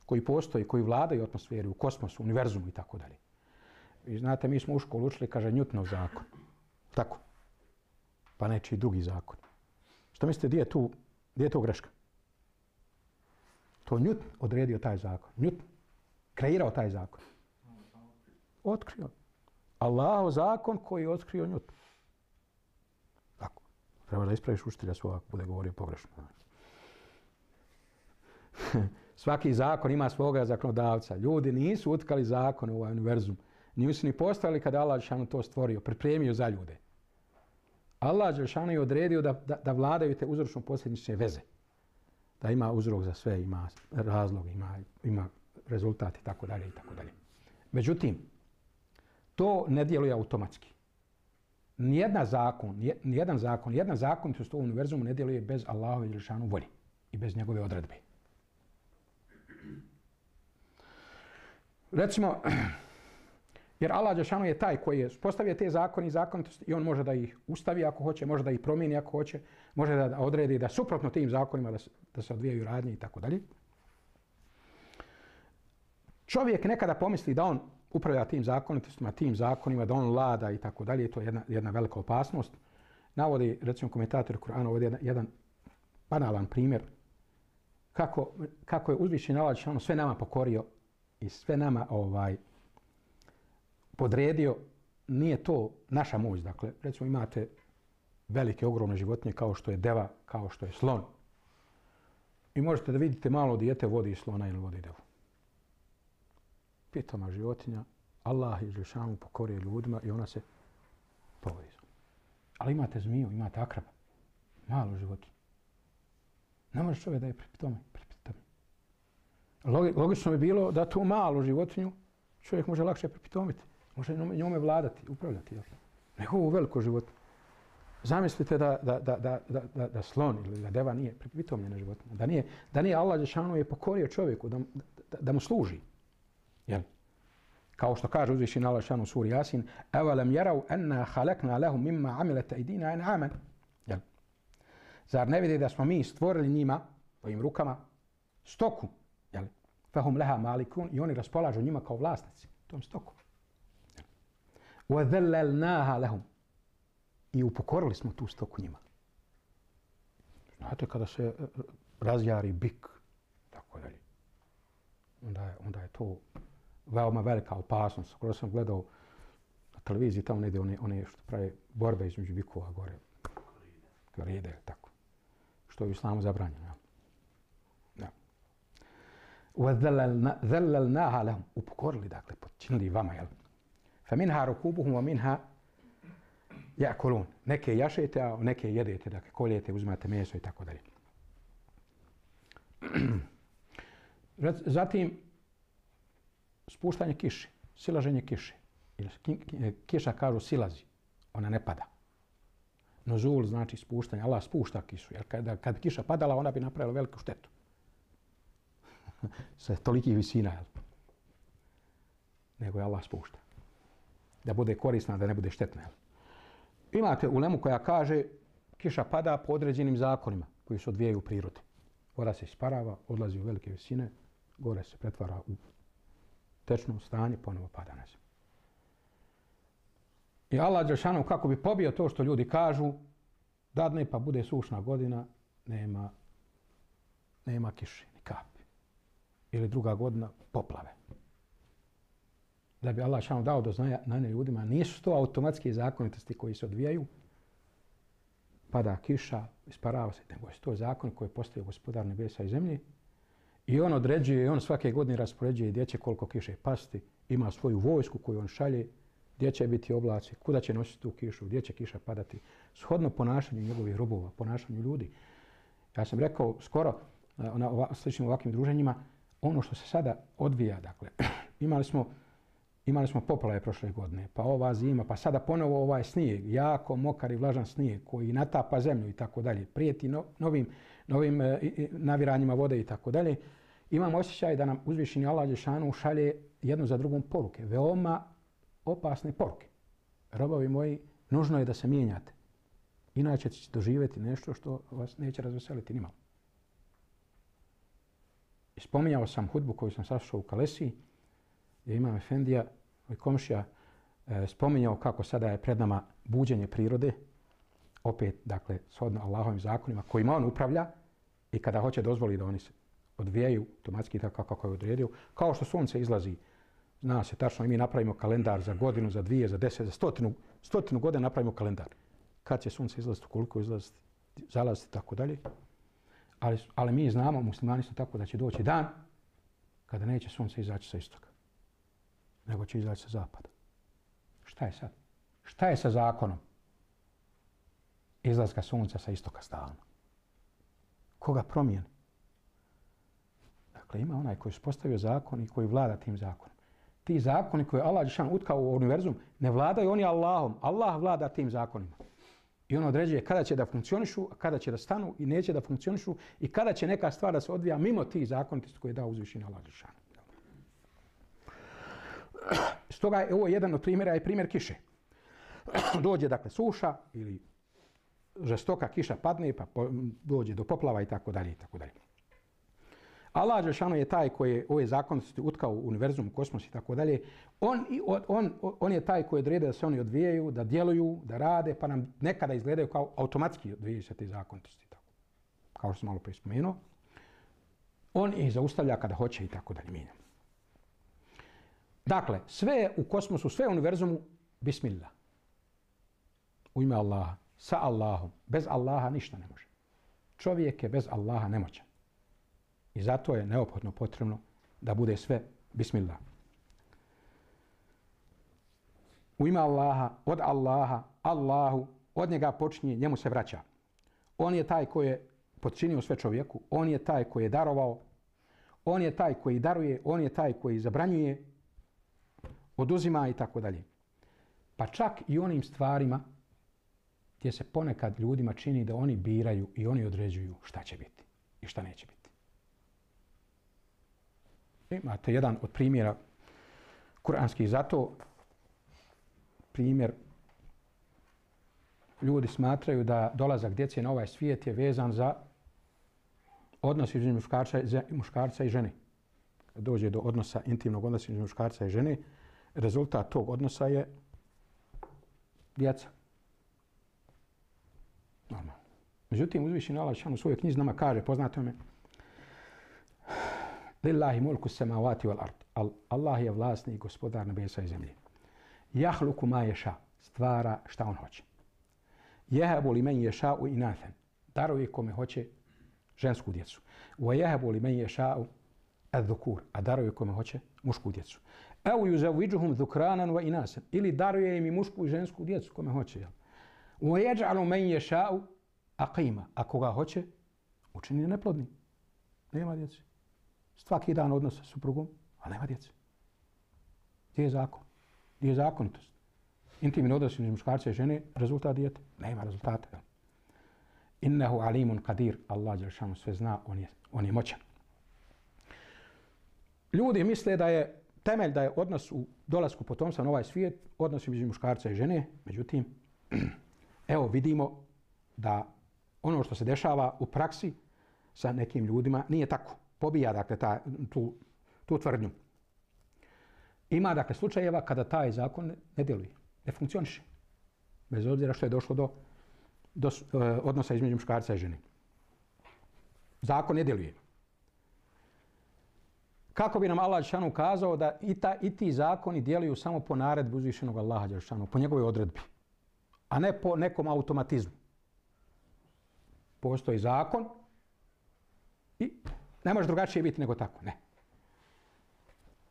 koji postoji, koji vladaju atmosferi, u kosmosu, univerzumu i tako dalje? Vi znate, mi smo u školu učili, kaže, Newtonov zakon. Tako. Pa nečiji drugi zakon. Što mislite, gdje je to greška? To Newton odredio taj zakon. Newton kreirao taj zakon. Otkrio. Allahov zakon koji je otkrio Newton. Tako. Treba da ispraviš učitelja svoj ako bude govorio pogrešno. Svaki zakon ima svoga zakonodavca. Ljudi nisu utkali zakon u ovaj univerzum. Nisu ni postavili kada Allah dželešanu to stvorio, pripremio za ljude. Allah dželešanu je odredio da vladaju te uzročno-posljedične veze. Da ima uzrok za sve, ima razlog, ima rezultat i tako dalje i tako dalje. Međutim, to ne djeluje automatski. Nijedan zakonitost u univerzumu ne djeluje bez Allahove dželešanu volje i bez njegove odredbe. Recimo, jer Allah dželešanu je taj koji je postavio te zakone i zakonitosti i on može da ih ustavi ako hoće, može da ih promijeni ako hoće, može da odredi da suprotno tim zakonima da se odvijaju radnje i tako dalje. Čovjek nekada pomisli da on upravlja tim zakonitostima, tim zakonima, da on vlada i tako dalje, to je jedna velika opasnost. Navodi, recimo, komentator Kur'ana ovdje jedan banalan primjer kako je uzvišeni Allah dželešanu sve nama pokorio i sve nama podredio. Nije to naša moć. Dakle, recimo imate velike, ogromne životinje kao što je deva, kao što je slon. I možete da vidite malo dijete vodi slona ili vodi devu. Pitoma životinja, Allah i Žešanu pokorije ljudima i ona se povodi. Ali imate zmiju, imate akraba, malu životinju. Ne može čovjek da je pripitome. Logično bi bilo da tu malu životinju čovjek može lakše pripitomiti. Može njome vladati, upravljati. Nego ovu veliku životinju. Zamislite da slon ili da deva nije pripitomljena životinja. Da nije Allah Žešanu je pokorio čovjeku da mu služi. Jel? Kao što kaže uzvišeni Allah Žešanu u suri Jasin, أَوَلَمْ يَرَوْا أَنَّا خَلَقْنَا لَهُمْ مِمَّا عَمِلَتْ أَيْدِينَا أَنْعَامًا. Jel? Zar ne vidi da smo mi stvorili njima, svojim rukama, stoku, jel? فَهُمْ لَهَا مَالِكُونَ, i oni raspolažu njima kao vlasnici tom stoku. وَذَلَّلْنَاهَا لَهُمْ, i upokorili smo tu stoku njima. Znate, kada se razjari bik, tako dalje, onda je to veoma velika opasnost. Skoro sam gledao na televiziji, tamo negdje one što prave borbe između bikova gore. Koride, tako. Što je u islamu zabranjeno. Ja. وَذَلَّلْنَاهَا لَهُمْ, upokorili, dakle, počinili vama, jel? فَمِنْهَا رُكُوبُهُمْ وَمِنْهَا يَأْكُلُونَ. Neke jašete, a neke jedete, dakle, koljete, uzimate meso i tako dalje. Zatim, spuštanje kiše, silaženje kiše. Kiša, kažu, silazi, ona ne pada. Nuzul znači spuštanje, Allah spušta kišu, jer kad kiša padala, ona bi napravila veliku štetu. Sa tolikih visina, jel? Nego je Allah spušta. Da bude korisna, da ne bude štetna, jel? Imate ulemu koja kaže kiša pada po određenim zakonima koji se odvijaju u prirodi. Voda se isparava, odlazi u velike visine, gore se pretvara u tečno stanje, ponovo pada na zemlju. I Allah Đelešanu, kako bi pobio to što ljudi kažu, dadne pa bude sušna godina, nema kiše, ni kapi. Ili druga godina, poplave. Da bi Allah Đelešanu dao do znanja ljudima, nisu to automatske zakonitosti koji se odvijaju, pada kiša, isparava se, nego je to zakon koji je postavio Gospodar nebesa i zemlje. I on određuje, i on svake godine raspoređuje gdje će koliko kiše pasti, ima svoju vojsku koju on šalje, gdje će biti oblaci, kuda će nositi tu kišu, gdje će kiša padati, shodno ponašanju njegovih robova, ponašanju ljudi. Ja sam rekao skoro na sličnim ovakvim druženjima, ono što se sada odvija, dakle, imali smo poplave prošle godine, pa ova zima, pa sada ponovo ovaj snijeg, jako mokar i vlažan snijeg koji natapa zemlju i tako dalje, prijeti novim naviranjima vode i tako dalje. Imam osjećaj da nam uzvišeni Allah Đelešanu šalje jednu za drugom poruke, veoma opasne poruke. Robovi moji, nužno je da se mijenjate. Inače ćete doživjeti nešto što vas neće razveseliti nimalo. I spominjao sam hudbu koju sam saslušao u Kalesiji, gdje imam efendija i komšija spominjao kako sada je pred nama buđenje prirode, opet, dakle, shodno Allahovim zakonima kojima on upravlja i kada hoće dozvoli da oni se odvijaju automatski tako kako je odredio, kao što sunce izlazi, zna se tačno i mi napravimo kalendar za godinu, za 2, za 10, za stotinu godina napravimo kalendar. Kad će sunce izlaziti, koliko izlaziti, zalaziti i tako dalje. Ali mi znamo, muslimani su tako da će doći dan kada neće sunce izaći sa istoka, nego će izaći sa zapada. Šta je sad? Šta je sa zakonom izlaska sunca sa istoka stalno? Koga promijeni? Dakle, ima onaj koji je postavio zakon i koji vlada tim zakonom. Ti zakoni koje Allah Đelešanu utkao u univerzum ne vladaju oni Allahom. Allah vlada tim zakonima. I on određuje kada će da funkcionišu, a kada će da stanu i neće da funkcionišu i kada će neka stvar da se odvija mimo tih zakonitosti koje je dao uzvišeni Allah Đelešanu. Stoga je ovo jedan od primjera i primjer kiše. Dođe, dakle, suša ili žestoka kiša padne, pa dođe do poplava i tako dalje i tako dalje. Allah Đelešanu je taj koji je ove zakonitosti utkao u univerzum, kosmos i tako dalje. On je taj koji odrede da se oni odvijaju, da djeluju, da rade, pa nam nekada izgledaju kao automatski odvijaju se te zakonitosti. Tako. Kao što sam malo prije spomenuo. On ih zaustavlja kada hoće i tako dalje mijenja. Dakle, sve u kosmosu, sve u univerzumu, bismillah. U ime Allaha, sa Allahom. Bez Allaha ništa ne može. Čovjek je bez Allaha nemoćan. I zato je neophodno potrebno da bude sve bismillah. U ime Allaha, od Allaha, Allahu, od njega počinje, njemu se vraća. On je taj koji je podčinio sve čovjeku, on je taj koji je darovao, on je taj koji daruje, on je taj koji zabranjuje, oduzima i tako dalje. Pa čak i onim stvarima gdje se ponekad ljudima čini da oni biraju i oni određuju šta će biti i šta neće biti. Imate jedan od primjera kuranskih, zato primjer ljudi smatraju da dolazak djece na ovaj svijet je vezan za odnos između muškarca i žene. Kad dođe do odnosa, intimnog odnosa između muškarca i žene, rezultat tog odnosa je djeca. Normalno. Međutim, uzvišeni Allah dželle šanuhu u svojoj knjizi nama kaže, poznato me, Lillahi mulku samawati wal ard. Allah je vlasnik i gospodar nebesa i zemlje. Jahluku ma ješa, stvara šta on hoće. Jehabu li men ješa'u inathan, daruje kome hoće žensku djecu. Wa jehabu li men ješa'u adhukur, a daruje kome hoće mušku djecu. Au yuzawwijuhum dhukranan wa inasan, ili daruje im i mušku i žensku djecu kome hoće. Wa yaj'alu men yasha'u aqima, a koga hoće učini neplodnim. Nema djece. Svaki dan odnos sa suprugom, a nema djece. Gdje je zakon? Gdje je zakonitost? Intimni odnos između muškarca i žene, rezultat dijete? Nema rezultata. Innehu alimun qadir, Allah dželle šanuhu sve zna, on je moćan. Ljudi misle da je temelj da je odnos u dolasku potomstva na ovaj svijet, odnos između muškarca i žene, međutim, evo vidimo da ono što se dešava u praksi sa nekim ljudima nije tako. Pobija dakle tu tvrdnju. Ima dakle slučajeva kada taj zakon ne djeluje, ne funkcioniše. Bez obzira što je došlo do odnosa između muškarca i žene. Zakon ne djeluje. Kako bi nam Allah dželle šanuhu kazao da i ti zakoni djeluju samo po naredbi uzvišenog Allaha dželle šanuhu, po njegovoj odredbi, a ne po nekom automatizmu. Postoji zakon i ne može drugačije biti nego tako. Ne.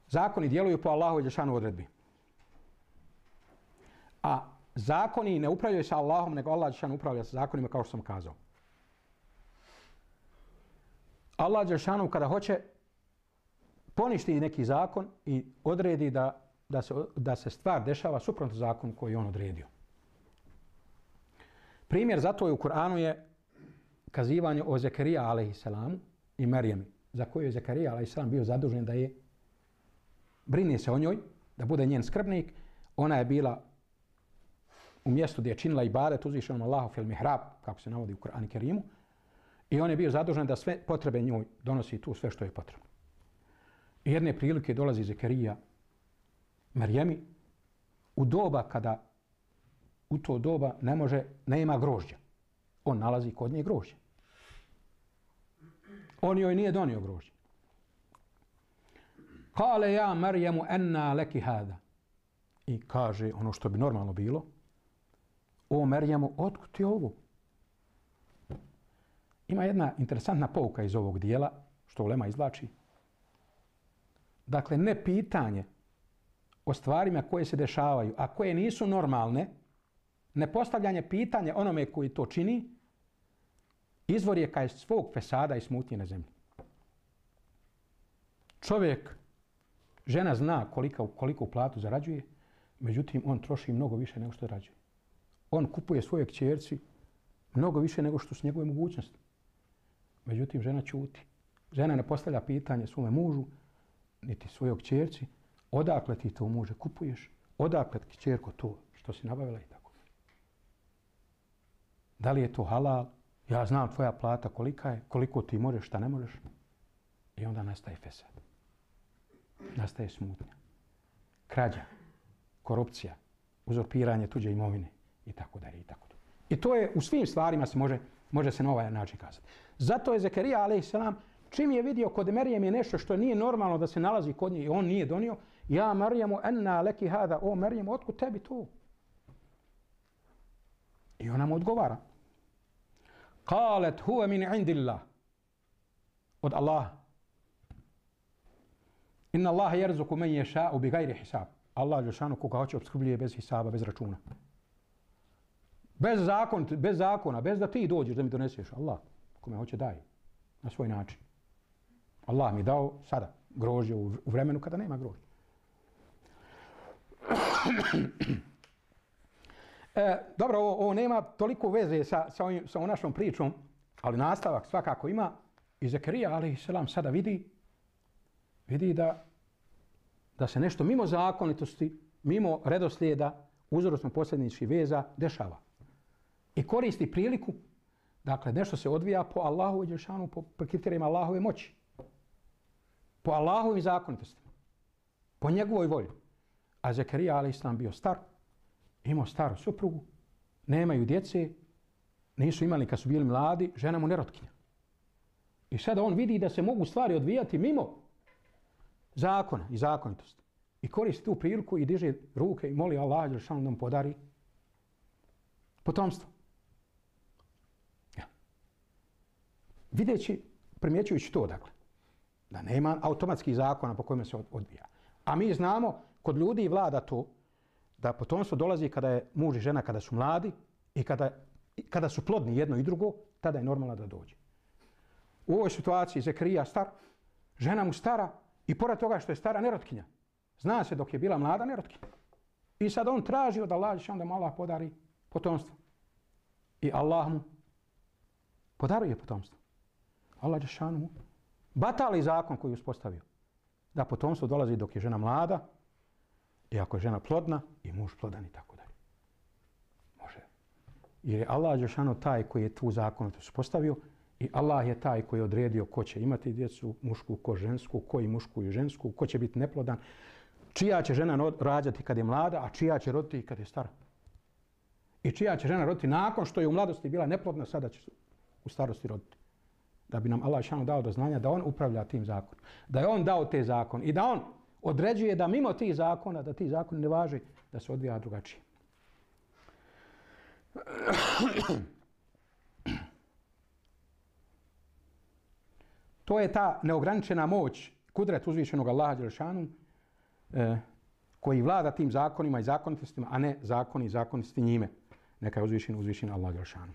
Zakoni djeluju po Allahovoj dželle šanuhu odredbi. A zakoni ne upravljaju sa Allahom, nego Allah dželle šanuhu upravlja sa zakonima kao što sam kazao. Allah dželle šanuhu kada hoće poništi neki zakon i odredi da se stvar dešava suprotno zakonu koji je on odredio. Primjer za to je u Kur'anu je kazivanje o Zekarija alejselamu i Marijemi, za koju je Zekarija alejselam bio zadužen da je brine se o njoj, da bude njen skrbnik. Ona je bila u mjestu gdje je činila ibadet uzvišenom Allahu fil mihrab, kako se navodi u Kur'anu Kerimu, i on je bio zadužen da sve potrebe njoj donosi tu sve što je potrebno. I jedne prilike dolazi Zekarija Marijemi u doba kada u to doba nema grožđa. On nalazi kod nje grožđe. On joj nije donio grožđe. Kale ja Marijemu enna leki hada. I kaže ono što bi normalno bilo. O Marijemu, otkud ti ovo? Ima jedna interesantna pouka iz ovog dijela, što ulema izvlači. Dakle, ne pitanje o stvarima koje se dešavaju, a koje nisu normalne, ne postavljanje pitanja onome koji to čini, izvor je kaj svog fesada i smutnje na zemlji. Čovjek, žena zna koliko platu zarađuje, međutim on troši mnogo više nego što zarađuje. On kupuje svoje kćerci mnogo više nego što su njegove mogućnosti. Međutim, žena ćuti. Žena ne postavlja pitanje svome mužu, niti svojoj kćerci, odakle ti to muže kupuješ, odakle kćerko to što si nabavila i tako. Da li je to halal? Ja znam tvoja plata kolika je, koliko ti možeš, šta ne možeš. I onda nastaje fesad. Nastaje smutnja. Krađa, korupcija, uzurpiranje tuđe imovine i tako dalje i tako dalje. I to je u svim stvarima se može se na ovaj način kazati. Zato je Zekarija alejselam čim je vidio kod Marijem je nešto što nije normalno da se nalazi kod nje i on nije donio, ja Marijemu enna leki hada, o Marijem, otkud tebi to? I ona mu odgovara. Kalet huve min indillah. Od Allaha. Inna Allaha yarzuqu man yasha'u bighairi hisab. Allah dželešanu koga hoće opskrbljuje bez hisaba, bez računa. Bez zakona, bez da ti dođeš da mi doneseš. Allah kome hoće daje na svoj način. Allah mi dao sada grožđe u vremenu kada nema grožđe. Dobro, ovo nema toliko veze sa ovom našom pričom, ali nastavak svakako ima. I Zekarija, alejselam, sada vidi da se nešto mimo zakonitosti, mimo redoslijeda, uzročno-posljedničkih veza dešava. I koristi priliku, dakle, nešto se odvija po Allahovoj dželešanu, po kriterijima Allahove moći. Po Allahovim zakonitostima. Po njegovoj volji. A Zekarija, alejselam, bio star, imao staru suprugu, nemaju djece, nisu imali kad su bili mladi, žena mu nerotkinja. I sada on vidi da se mogu stvari odvijati mimo zakona i zakonitosti. I koristi tu priliku i diže ruke i moli Allaha dželešanu da mu podari potomstvo. Ja. Videći, primjećujući to, dakle, da nema automatskih zakona po kojima se odvija. A mi znamo, kod ljudi vlada to, da potomstvo dolazi kada je muž i žena, kada su mladi i kada su plodni jedno i drugo, tada je normalno da dođe. U ovoj situaciji Zekarija star, žena mu stara i pored toga što je stara nerotkinja. Zna se dok je bila mlada nerotkinja. I sad on traži od Allaha da mu Allah podari potomstvo. I Allah mu podaruje potomstvo. Allah dželešanu mu batali zakon koji je uspostavio. Da potomstvo dolazi dok je žena mlada i ako je žena plodna i muž plodan i tako dalje. Može. Jer je Allah dželešanu taj koji je tu zakonitost uspostavio i Allah je taj koji je odredio ko će imati djecu, mušku, ko žensku, koji mušku i žensku, ko će biti neplodan, čija će žena rađati kad je mlada, a čija će roditi kad je stara. I čija će žena roditi nakon što je u mladosti bila neplodna, sada će u starosti roditi. Da bi nam Allah šano dao do znanja da on upravlja tim zakonom. Da je on dao te zakon i da on određuje da mimo tih zakona, da ti zakoni ne važe, da se odvija drugačije. To je ta neograničena moć, kudret uzvišenog Allaha dželešanu, koji vlada tim zakonima i zakonitostima, a ne zakoni i zakonitosti njime. Neka je uzvišen Allah dželešanu.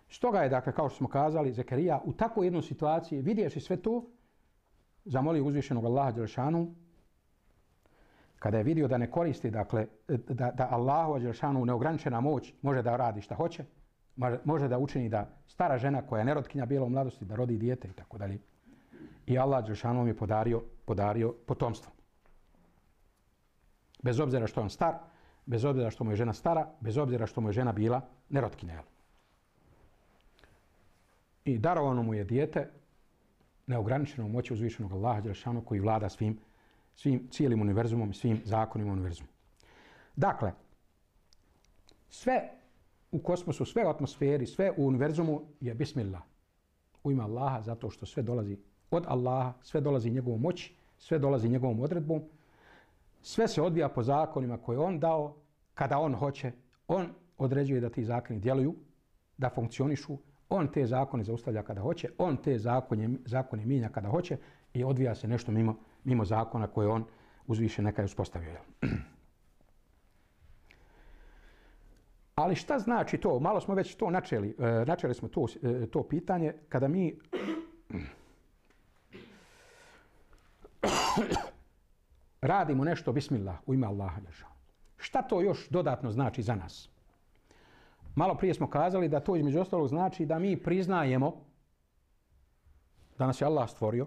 Stoga je, dakle, kao što smo kazali, Zekarija u takvoj jednoj situaciji, vidjevši sve to, zamolio uzvišenog Allaha dželešanu, kada je vidio da ne koristi, dakle, da Allahu dželešanu neograničena moć može da radi šta hoće, može da učini da stara žena koja je nerotkinja bila u mladosti da rodi dijete i tako dalje. I Allah dželešanu je podario potomstvo. Bez obzira što je on star, bez obzira što mu je žena stara, bez obzira što mu je žena bila nerotkinja. I darovano mu je dijete neograničenom moći uzvišenog Allaha dželešanu koji vlada svim cijelim univerzumom i svim zakonima univerzuma. Dakle, sve u kosmosu, sve u atmosferi, sve u univerzumu je bismillah. U ime Allaha, zato što sve dolazi od Allaha, sve dolazi njegovom moći, sve dolazi njegovom odredbom, sve se odvija po zakonima koje on dao, kada on hoće, on određuje da ti zakoni djeluju, da funkcionišu, on te zakone zaustavlja kada hoće, on te zakone mijenja kada hoće i odvija se nešto mimo zakona koje on uzviše neka je uspostavio. Ali šta znači to? Malo smo već to načeli. Načeli smo to pitanje kada mi radimo nešto bismillah u ime Allaha. Šta to još dodatno znači za nas? Malo prije smo kazali da to između ostalog znači da mi priznajemo da nas je Allah stvorio,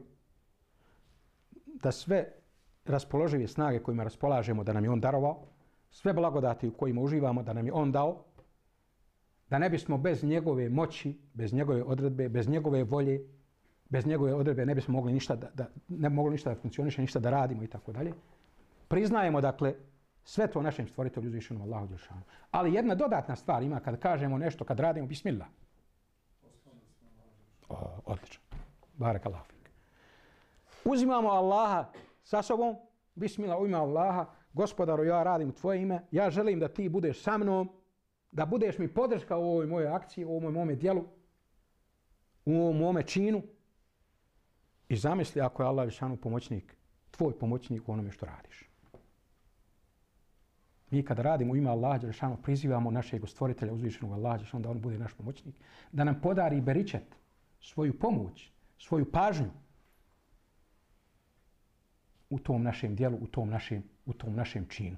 da sve raspoložive snage kojima raspolažemo da nam je on darovao, sve blagodati u kojima uživamo da nam je on dao, da ne bismo bez njegove moći, bez njegove odredbe, bez njegove volje, bez njegove odredbe ne bismo mogli ništa da funkcioniše, ništa da radimo i tako dalje. Priznajemo, dakle, sve to našem stvoritelju uzvišenom Allahu dželešanu. Ali jedna dodatna stvar ima kad kažemo nešto, kad radimo bismillah. Odlično. Barakallahu fik. Uzimamo Allaha sa sobom, bismillah, u ime Allaha, Gospodaru, ja radim u tvoje ime, ja želim da ti budeš sa mnom, da budeš mi podrška u ovoj mojoj akciji, u ovom mome djelu, u ovom mome činu. I zamisli ako je Allah dželešanu pomoćnik tvoj pomoćnik u onome što radiš. Mi kada radimo u ime Allaha dželešanu prizivamo našeg stvoritelja uzvišenog Allaha dželešanu da on bude naš pomoćnik, da nam podari beričet, svoju pomoć, svoju pažnju u tom našem djelu, u tom našem činu.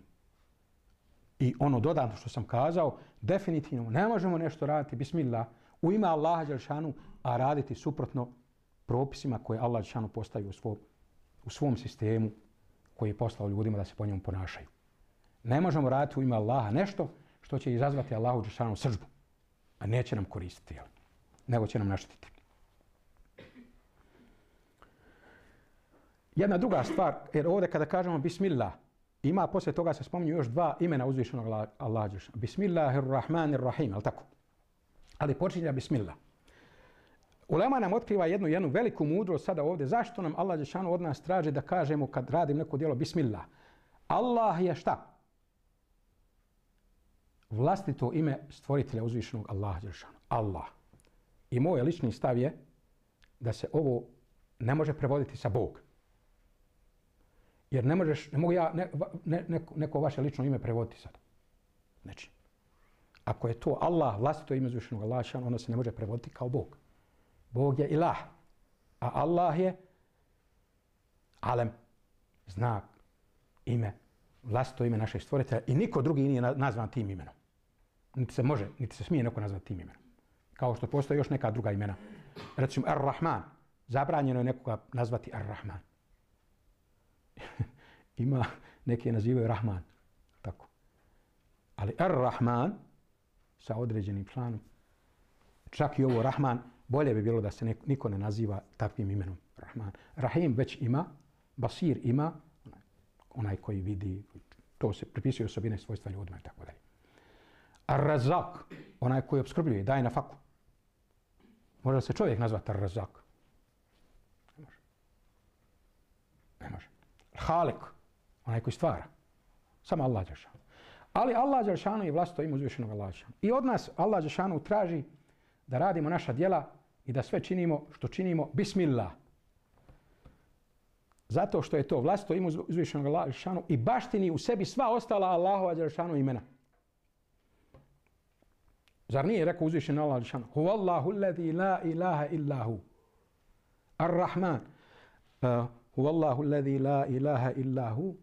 I ono dodatno što sam kazao, definitivno ne možemo nešto raditi bismillah u ime Allaha dželešanu, a raditi suprotno propisima koje Allah dželešanu postavio u svom sistemu koji je poslao ljudima da se po njemu ponašaju. Ne možemo raditi u ime Allaha nešto što će izazvati Allahu dželešanu srdbu, a neće nam koristiti, nego će nam naštetiti. Jedna druga stvar, jer ovdje kada kažemo bismillah, ima poslije toga se spominju još dva imena uzvišenog Allaha dželešanu. Bismillahirrahmanirrahim, ali tako? Ali počinje bismillah. Ulema nam otkriva jednu veliku mudrost sada ovdje. Zašto nam Allah dželešanu od nas traži da kažemo kad radim neko djelo bismillah? Allah je šta? Vlastito ime stvoritelja uzvišenog Allaha dželešanu. Allah. I moj lični stav je da se ovo ne može prevoditi sa Bog. Jer ne mogu ja neko vaše lično ime prevoditi sad. Znači, ako je to Allah, vlastito ime uzvišenog Allaha dželešanu, ono se ne može prevoditi kao Bog. Bog je ilah, a Allah je alem, znak, ime, vlastito ime našeg stvoritelja i niko drugi nije nazvan tim imenom. Niti se smije neko nazvati tim imenom. Kao što postoje još neka druga imena. Recimo Ar-Rahman, zabranjeno je nekoga nazvati Ar-Rahman. Ima, neki je nazivaju Rahman, tako. Ali Ar-Rahman, sa određenim članom, čak i ovo Rahman, bolje bi bilo da se niko ne naziva takvim imenom Rahman. Rahim već ima, Basir ima, onaj koji vidi, to se pripisuje osobine svojstva ljudima i tako dalje. Ar-Razak, onaj koji opskrbljuje, daje na faku. Može se čovjek nazvati Ar-Razak? Ne može. Ne može. Halik, onaj koji stvara. Samo Allah dželešanu. Ali Allah dželešanu je vlastito ime uzvišenog Allaha dželešanu. I od nas Allah dželešanu traži da radimo naša djela i da sve činimo što činimo bismillah. Zato što je to vlastito ime uzvišenog Allaha dželešanu i baštini u sebi sva ostala Allahova dželešanu imena. Zar nije rekao uzvišeni Allah dželešanu? Huvallahu alladhi la ilaha illa hu. Ar-Rahman. Huvallahu alladhi la ilaha illa hu.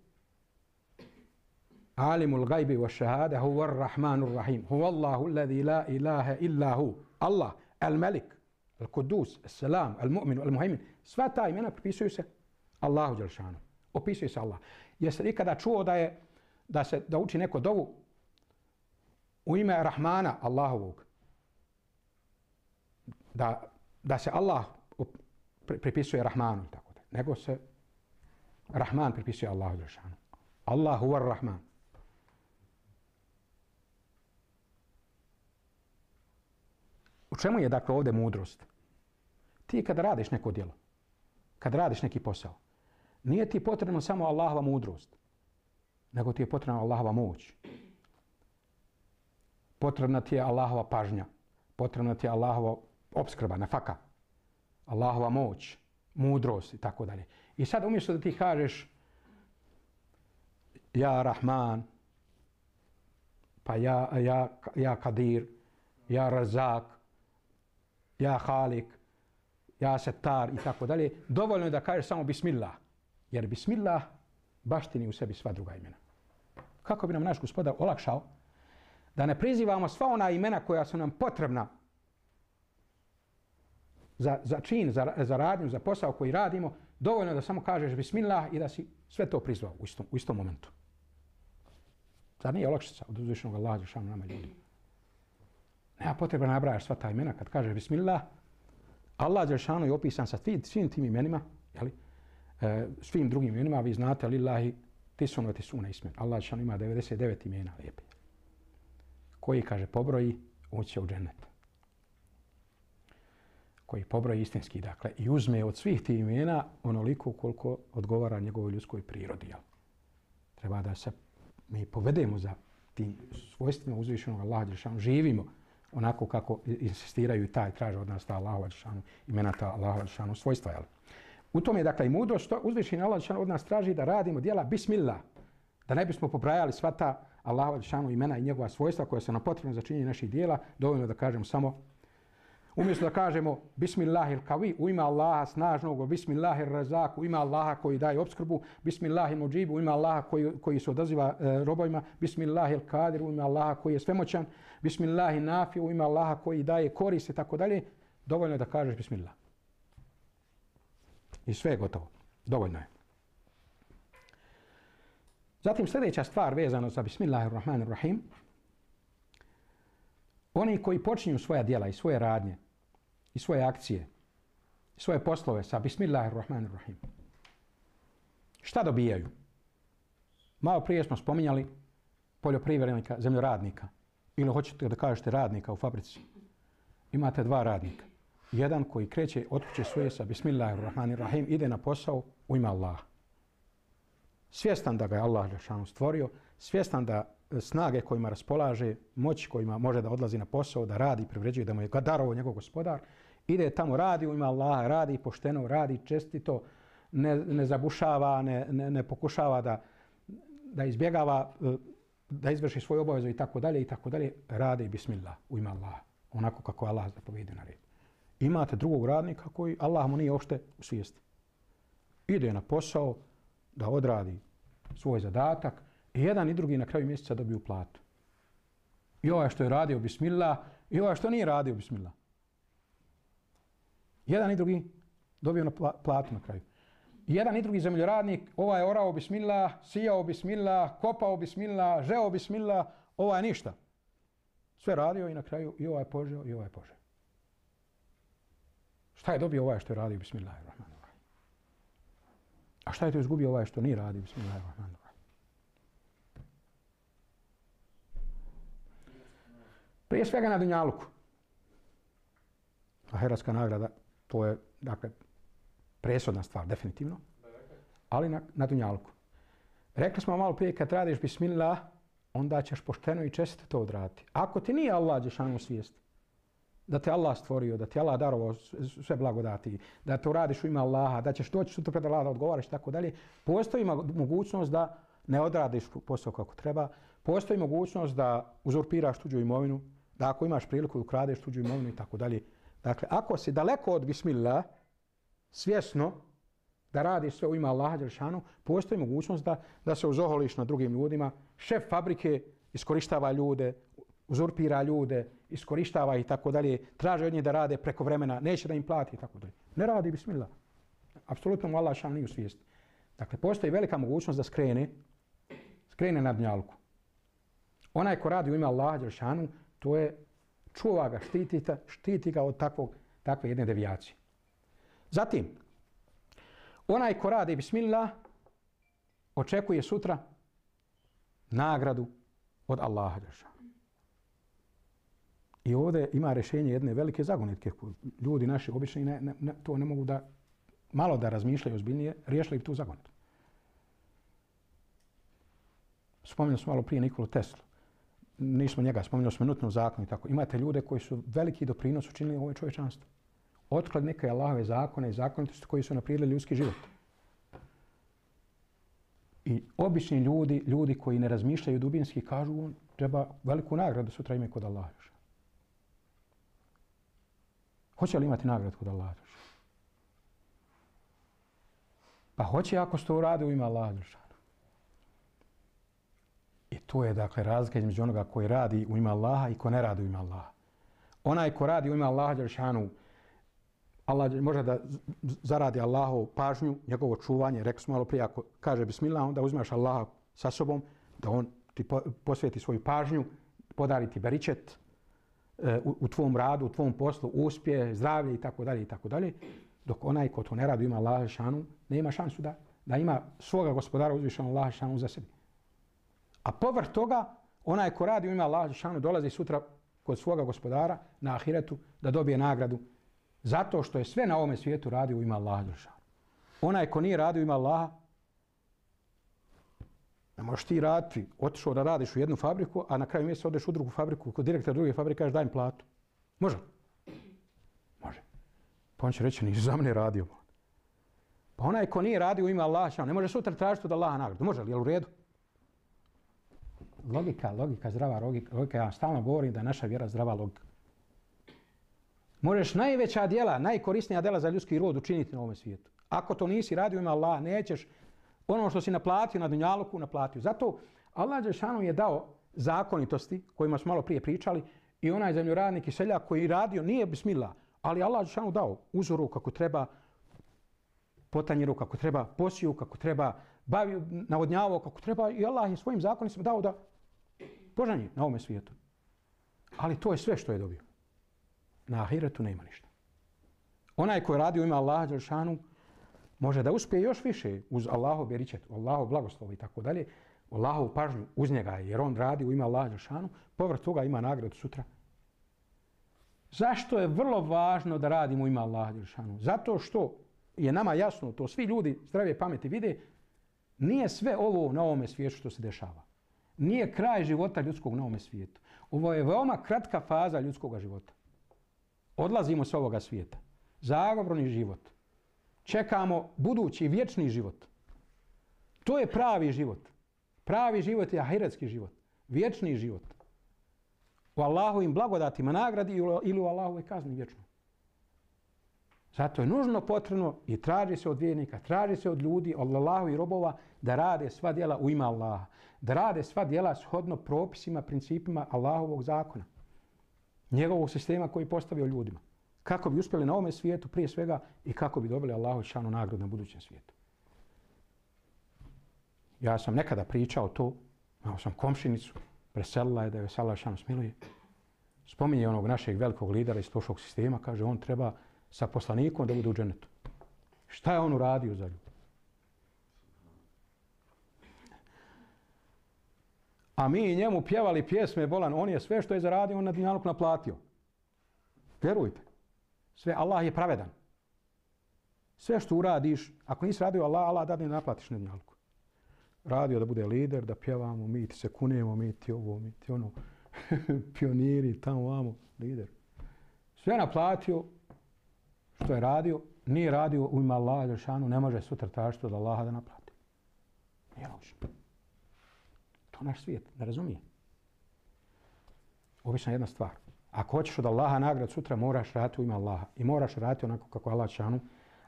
Alimul gajbi wa šahada huwa ar-Rahmanur Rahim. Huvallahu alladhi la ilaha illa hu. Allah, Al-Malik, Al-Kudus, Al-Salam, Al-Mu'min, Al-Muhaymin. Sva ta imena pripisuju se Allahu dželešanu. Opisuje se Allah. Jeste ikada čuo da uči neko dovu u ime Rahmana Allahovog? Da se Allah pripisuje Rahmanu, tako da. Nego se Rahman pripisuje Allahu dželešanu. Allah huwa ar-Rahman. U čemu je dakle ovdje mudrost? Ti kada radiš neko djelo, kada radiš neki posao, nije ti potrebno samo Allahova mudrost, nego ti je potrebna Allahova moć. Potrebna ti je Allahova pažnja, potrebna ti je Allahova opskrba, nafaka, Allahova moć, mudrost i tako dalje. I sad umjesto da ti kažeš ja Rahman, pa ja Kadir, ja Razak, ja Halik, ja Setar i tako dalje, dovoljno je da kažeš samo bismillah. Jer bismillah baštini u sebi sva druga imena. Kako bi nam naš Gospodar olakšao da ne prizivamo sva ona imena koja su nam potrebna za čin, za radnju, za posao koji radimo, dovoljno da samo kažeš bismillah i da si sve to prizvao u istom momentu. Zar nije olakšica od uzvišenog Allaha dželešanu nama ljudi? Nema potrebe nabrajaš sva ta imena. Kad kažeš bismillah, Allah dželešanu je opisan sa svim tim imenima, svim drugim imenima. Vi znate, lillahi tisuna ismen. Allah dželešanu ima 99 imena lijepe. Koji, kaže, pobroji, ući u džennet. Koji pobroji istinski, dakle, i uzme od svih tih imena onoliko koliko odgovara njegovoj ljudskoj prirodi. Jel? Treba da se mi povedemo za tim svojstvima uzvišenog Allaha dželešanu, živimo onako kako insistiraju i traže od nas ta Allahova dželešanu, imena ta Allahova dželešanu svojstva. Jel? U tome je dakle i mudrost, uzvišeni Allah od nas traži da radimo djela bismillah, da ne bismo pobrajali sva ta Allahova dželešanu imena i njegova svojstva koja su nam potrebna za činjenje naših djela, dovoljno da kažemo samo umjesto da kažemo Bismillahil kavi, u ime Allaha snažnog, Bismillahir razak, u ime Allaha koji daje opskrbu, Bismillahil muđibu, u ime Allaha koji se odaziva robovima, Bismillahil kadir, u ime Allaha koji je svemoćan, Bismillahil nafi, u ime Allaha koji daje korist i tako dalje, dovoljno je da kažeš Bismillah. I sve je gotovo. Dovoljno je. Zatim sljedeća stvar vezano za Bismillahirrahmanirrahim. Oni koji počinju svoja djela i svoje radnje i svoje akcije i svoje poslove sa Bismillahirrahmanirrahim. Šta dobijaju? Malo prije smo spominjali poljoprivrednika, zemljoradnika. Ili hoćete da kažete radnika u fabrici. Imate dva radnika. Jedan koji kreće od kuće svoje sa Bismillahirrahmanirrahim, ide na posao u ime Allaha. Svjestan da ga je Allah dželešanu stvorio, svjestan da snage kojima raspolaže, moć kojima može da odlazi na posao, da radi, privređuje, da mu je darovao njegov gospodar, ide tamo, radi u ime Allaha, radi pošteno, radi čestito, ne zabušava, ne pokušava da izbjegava, da izvrši svoju obavezu i tako dalje, radi bismillah u ime Allaha, onako kako Allah zapovijedi na red. Imate drugog radnika koji Allah mu nije uopšte u svijesti. Ide na posao da odradi svoj zadatak i jedan i drugi na kraju mjeseca dobiju platu. I ovaj što je radio bismillah i ovaj što nije radio bismillah. Jedan i drugi dobiju platu na kraju. Jedan i drugi zemljoradnik, ovaj je orao bismillah, sijao bismillah, kopao bismillah, žeo bismillah, ovaj ništa. Sve radio i na kraju i ovaj požeo i ovaj požeo. Šta je dobio ovaj što je radio Bismillahirrahmanirrahim? A šta je to izgubio ovaj što nije radio Bismillahirrahmanirrahim? Prije svega na dunjaluku. Ahiretska nagrada, to je dakle presudna stvar, definitivno. Ali na dunjaluku. Rekli smo malo prije, kad radiš Bismillah, onda ćeš pošteno i čestito to odraditi. Ako ti nije Allah dželešanu svijest, da te Allah stvorio, da ti Allah darovao sve blagodati, da to radiš u ime Allaha, da ćeš doći sutra pred Allaha da odgovaraš i tako dalje, postoji mogućnost da ne odradiš posao kako treba, postoji mogućnost da uzurpiraš tuđu imovinu, da ako imaš priliku da ukradeš tuđu imovinu i tako dalje. Dakle, ako si daleko od Bismillah, svjesno da radiš sve u ime Allaha dželešanu, postoji mogućnost da se uzoholiš na drugim ljudima. Šef fabrike iskorištava ljude, uzurpira ljude, iskorištava i tako dalje, traže od njih da rade preko vremena, neće da im plati i tako dalje. Ne radi bismillah. Apsolutno mu Allah šan nije u svijesti. Dakle, postoji velika mogućnost da skrene na dunjaluku. Onaj ko radi u ime Allaha dželešanu, to je čuva ga, štiti ga od takve jedne devijacije. Zatim, onaj ko radi bismillah, očekuje sutra nagradu od Allaha dželešanu. I ovdje ima rješenje jedne velike zagonetke. Ljudi naši obični to ne mogu malo da razmišljaju ozbiljnije, riješili bi tu zagonetu. Spominjali smo malo prije Nikolu Teslu. Nismo njega, spominjali smo Newtonov zakon i tako. Imate ljude koji su veliki doprinos učinili ovoj čovječanstvu. Otklad neke Allahove zakone i zakonitosti koji su naprijedili ljudski život. I obični ljudi koji ne razmišljaju dubinski, kažu on treba veliku nagradu sutra ime kod Allaha. Hoće li imati nagradu kod Allaha? Pa hoće ako se to uradi u ime Allaha. I to je dakle razlika između onoga koji radi u ime Allaha i ko ne radi u ime Allaha. Onaj ko radi u ime Allaha dželešanu, Allah može da zaradi Allahovu pažnju, njegovo čuvanje. Rekli smo malo prije, ako kaže bismillah, onda uzmeš Allaha sa sobom, da on ti posveti svoju pažnju, podari ti beričet u tvom radu, u tvom poslu, uspje, zdravlje i tako dalje, dok onaj ko to ne radi u ime Allaha dželešanu, nema šansu da ima svoga gospodara uzvišenog Allaha dželešanu za sebi. A povrh toga, onaj ko radi u ime Allaha dželešanu dolazi sutra kod svoga gospodara na ahiretu da dobije nagradu zato što je sve na ovome svijetu radio u ime Allaha dželešanu. Onaj ko nije radio u ime Allaha, ne možeš ti raditi, otišao da radiš u jednu fabriku, a na kraju mjeseca odeš u drugu fabriku, kod direktora druge fabrike kažeš daj mi platu. Može? Može. Pa on će reći nisi za mene radio. Pa onaj ko nije radio u ime Allaha, ne može sutra tražiti od Allaha nagradu. Može li? Je li u redu? Logika, zdrava logika. Ja stalno govorim da je naša vjera zdrava logika. Možeš najveća djela, najkorisnija djela za ljudski rod učiniti na ovom svijetu. Ako to nisi radio u ime Allaha, nećeš ono što si naplatio na dunjaluku, naplatio. Zato Allah dželešanu je dao zakonitosti, kojima smo malo prije pričali, i onaj zemljoradnik i seljak koji radio nije bismillah, ali Allah dželešanu dao uzoru kako treba, potanjiru kako treba, posiju kako treba, navodnjavao kako treba i Allah je svojim zakonima dao da požanje na ovom svijetu. Ali to je sve što je dobio. Na ahiretu nema ništa. Onaj koji radi u ime Allaha dželešanu može da uspije još više uz Allahov beričet, Allahov blagoslov i tako dalje, Allahovu pažnju uz njega, jer on radi u ime Allaha dželešanu, povrh toga ima nagradu sutra. Zašto je vrlo važno da radimo u ime Allaha dželešanu? Zato što je nama jasno, to svi ljudi zdrave pameti vide, nije sve ovo na ovome svijetu što se dešava. Nije kraj života ljudskog na ovome svijetu. Ovo je veoma kratka faza ljudskog života. Odlazimo s ovoga svijeta. Zagovorni život. Čekamo budući vječni život. To je pravi život. Pravi život je ahiretski život. Vječni život. U Allahovim blagodatima nagradi ili u Allahovoj kazni vječno. Zato je nužno potrebno i traži se od vjernika, traži se od ljudi, od Allahu i robova da rade sva djela u ime Allaha. Da rade sva djela shodno propisima, principima Allahovog zakona. Njegovog sistema koji je postavio ljudima. Kako bi uspjeli na ovome svijetu prije svega i kako bi dobili Allahu šanu nagradu na budućem svijetu. Ja sam nekada pričao to, imao sam komšinicu, preselila je da je Allah šanu smiluje. Spominje onog našeg velikog lidera iz prošlog sistema, kaže on treba sa poslanikom da bude u dženetu. Šta je on uradio za ljudi? A mi njemu pjevali pjesme bolan, on je sve što je zaradio, on na dunjaluk naplatio. Vjerujte. Sve, Allah je pravedan. Sve što uradiš, ako nisi radio Allah, Allah dadne naplatiš na dunjaluku. Radio da bude lider, da pjevamo, mi ti se kunemo, mi ti ovo, mi ti ono, pioniri, tamo, vamo, lider. Sve naplatio što je radio, nije radio u ime Allaha dželešanu, ne može sutra tražiti od Allaha da naplati. Nije logično. To je naš svijet, ne razumije. Obična jedna stvar. Ako hoćeš od Allaha nagrad sutra, moraš raditi u ime Allaha. I moraš raditi onako kako Allah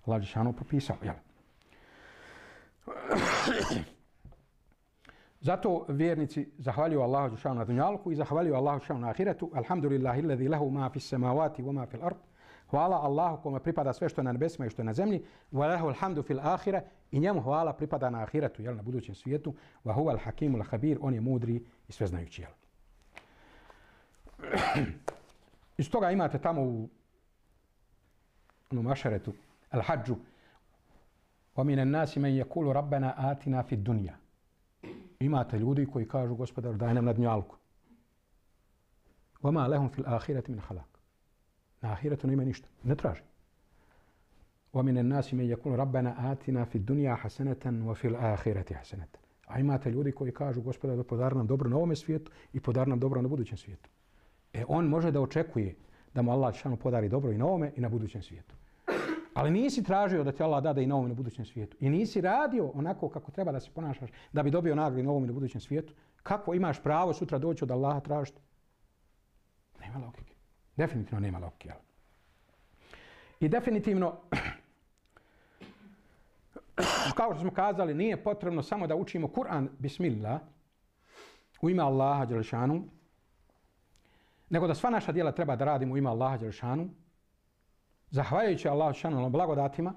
dželešanu propisao. Jel? Zato vjernici zahvaljuju Allahu dželešanu na dunjaluku i zahvaljuju Allahu dželešanu na ahiretu. Alhamdulillahi alladhi lahu ma fis samawati wa ma fil ard. Hvala Allahu kome pripada sve što je na nebesima i što je na zemlji. Wa lahu alhamdu fil ahire. I njemu hvala pripada na ahiretu, jel, na budućem svijetu. Wa huwa al-hakimul khabir. On je mudri i sveznajući, jel. Iz toga imate tamo u mašaretu al-hađu. Wa minan nasi man yaqulu rabbana atina fid dunya. Imate ljudi koji kažu gospodaru daj nam na dunjalku. Wa ma lahum fil ahireti min halak. Na ahiretu nema ništa. Ne traži. وَمِنَ النَّاسِ مَنْ يَقُولُ رَبَّنَا آتِنَا فِي الدُّنْيَا حَسَنَةً وَفِي الْآخِرَةِ حَسَنَةً. A imate ljudi koji kažu gospodaru podari nam dobro na ovome svijetu i podari nam dobro na budućem svijetu. On može da očekuje da mu Allah dželešanu podari dobro i na ovome i na budućem svijetu. Ali nisi tražio da ti Allah dade i na ovome i na budućem svijetu. I nisi radio onako kako treba da se ponašaš da bi dobio nagradu na ovome i na budućem svijetu. Kako imaš pravo sutra doći od Allaha tražiti? Nema logike. Definitivno nema logike. I definitivno, kao što smo kazali, nije potrebno samo da učimo Kur'an bismillah u ime Allaha dželešanu, nego da sva naša djela treba da radimo u ime Allaha dželešanu, zahvaljujući Allahu dželešanu na blagodatima,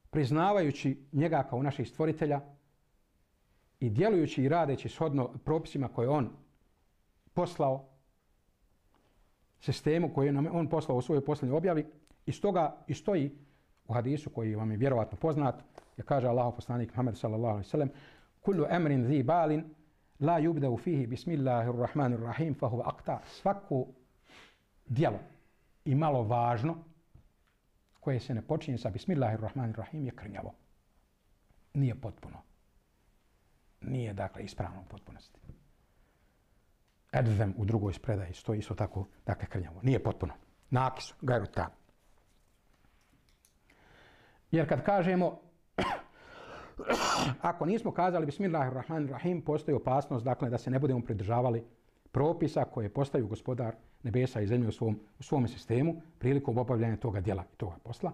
priznavajući njega kao naših stvoritelja i djelujući i radeći shodno propisima koje on poslao, sistemu koji nam on poslao u svojoj posljednjoj objavi. I stoga i stoji u hadisu koji vam je vjerovatno poznat, je kaže Allahov poslanik Muhammed sallallahu alejhi ve sellem: "Kullu amrin zi balin la yubda'u fihi bismillahirrahmanirrahim fa huwa aqta." Svako djelo i malo važno koje se ne počinje sa bismillahirrahmanirrahim je krnjavo. Nije potpuno. Nije dakle ispravno u potpunosti. Edzem u drugoj predaji stoji isto tako, dakle krnjavo. Nije potpuno. Nakis, gajru tam. Jer kad kažemo Ako nismo kazali Bismillahirrahmanirrahim, postoji opasnost dakle, da se ne budemo pridržavali propisa koje postavio gospodar nebesa i zemlje u svom sistemu prilikom obavljanja toga djela i toga posla.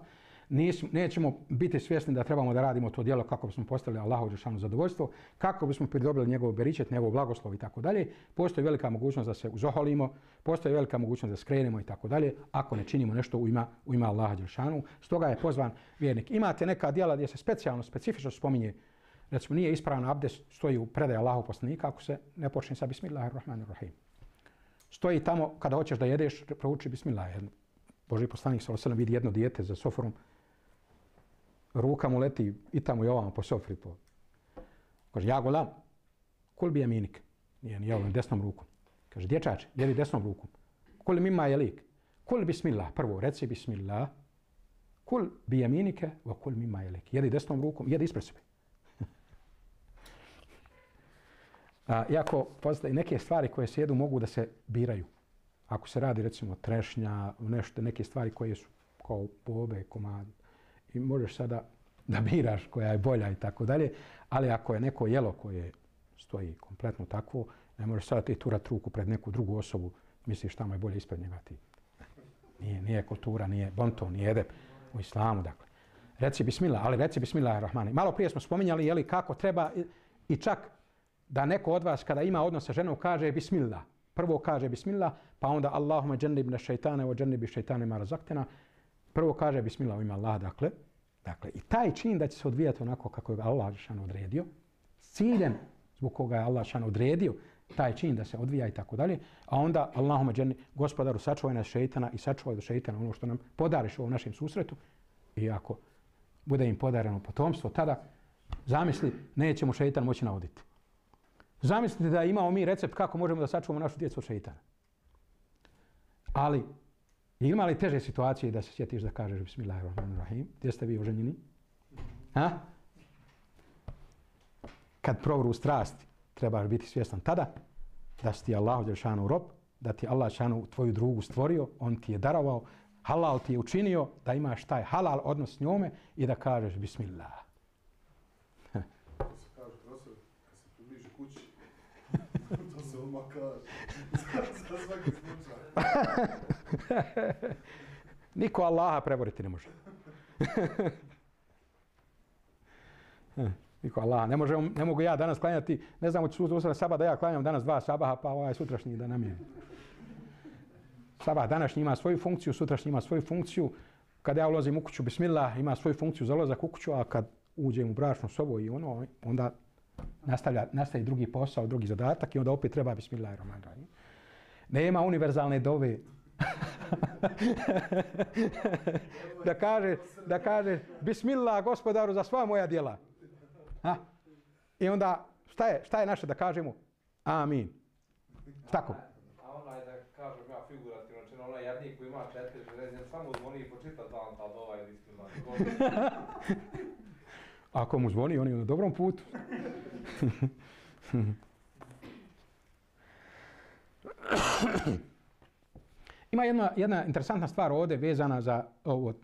Nećemo biti svjesni da trebamo da radimo to djelo kako bismo postavili Allahu dželešanu zadovoljstvo, kako bismo pridobili njegov beričet, njegov blagoslov i tako dalje. Postoji velika mogućnost da se uzoholimo, postoji velika mogućnost da skrenemo i tako dalje, ako ne činimo nešto u ime Allaha dželešanu. Stoga je pozvan vjernik. Imate neka djela gdje se specifično spominje, recimo nije ispravan abdest, stoji u predaji Allahu poslanika ako se ne počne sa Bismillahirrahmanirrahim. Stoji tamo kada hoćeš da jedeš, prouči Bismillah. Božji poslanik sallallahu alejhi ve sellem vidi jedno dijete za sofrom, ruka mu leti i tamo i ovamo po sofri. Kaže, ja golam, kul bi jaminik. Nije ni javljam desnom rukom. Kaže, dječače, jedi desnom rukom. Kul mimma jelik. Kul bismillah. Prvo, reci bismillah. Kul bi jaminike, va kul mimma jelik. Jedi desnom rukom, jedi ispred sebe. Iako postoje neke stvari koje se jedu mogu da se biraju. Ako se radi recimo trešnja, nešto, neke stvari koje su kao bobe, komad, i možeš sada da biraš koja je bolja i tako dalje, ali ako je neko jelo koje stoji kompletno takvo, ne možeš sada ti turat ruku pred neku drugu osobu, misliš tamo je bolje ispred njega ti. Nije kultura, nije bonton, nije edep u islamu, dakle. Reci bismillah, ali reci bismillahirrahmanirrahim. Malo prije smo spominjali jeli kako treba i čak da neko od vas kada ima odnos sa ženom kaže bismillah. Prvo kaže bismillah, pa onda Allahumma džennibna šeitane wa džennibi šeitane ma razaqtena. Prvo kaže bismillah u ime Allaha, dakle, i taj čin da će se odvijati onako kako je Allah dželešanu odredio, ciljem zbog koga je Allah dželešanu odredio taj čin da se odvija i tako dalje, a onda Allahumma dženni, gospodaru sačuvaj nas šeitana i sačuvaj do šeitana ono što nam podariš u ovom našem susretu, i ako bude im podareno potomstvo, tada zamisli, nećemo šeitan moći navoditi. Zamislite da imamo mi recept kako možemo da sačuvamo našu djecu od šeitana. Ali, ima li teže situacije da se sjetiš da kažeš Bismillahirrahmanirrahim? Gdje ste vi oženjeni? Kad provru strasti, trebaš biti svjestan tada da si ti Allahu dželešanu rob, da ti Allah dželešanu tvoju drugu stvorio, on ti je darovao, halal ti je učinio da imaš taj halal odnos s njome i da kažeš Bismillah. To se kaže, profesor, kad se približi kući, to se odmah kaže. Za svaki slučaj. Niko Allaha preboriti ne može. Niko Allaha. Ne mogu ja danas klanjati, ne znam, od sutra sabah da ja klanjam danas 2 sabaha, pa ovaj sutrašnji da namijem. Sabah današnji ima svoju funkciju, sutrašnji ima svoju funkciju. Kad ja ulazim u kuću, bismillah, ima svoju funkciju za ulazak u kuću, a kad uđem u bračnu sobu i ono, onda nastaje drugi posao, drugi zadatak i onda opet treba Bismillahirrahmanirrahim. Nema univerzalne dove. da kaže Bismillah gospodaru za sva moja djela. I onda šta je naše da kažemo? Amin. Tako. A onaj da kažem ja figurativno, znači onaj jadnik koji ima 4 železnice, samo zvoni i počita dan tad ovaj Bismillah. Ako mu zvoni, on je na dobrom putu. Ima jedna interesantna stvar ovdje vezana za ovo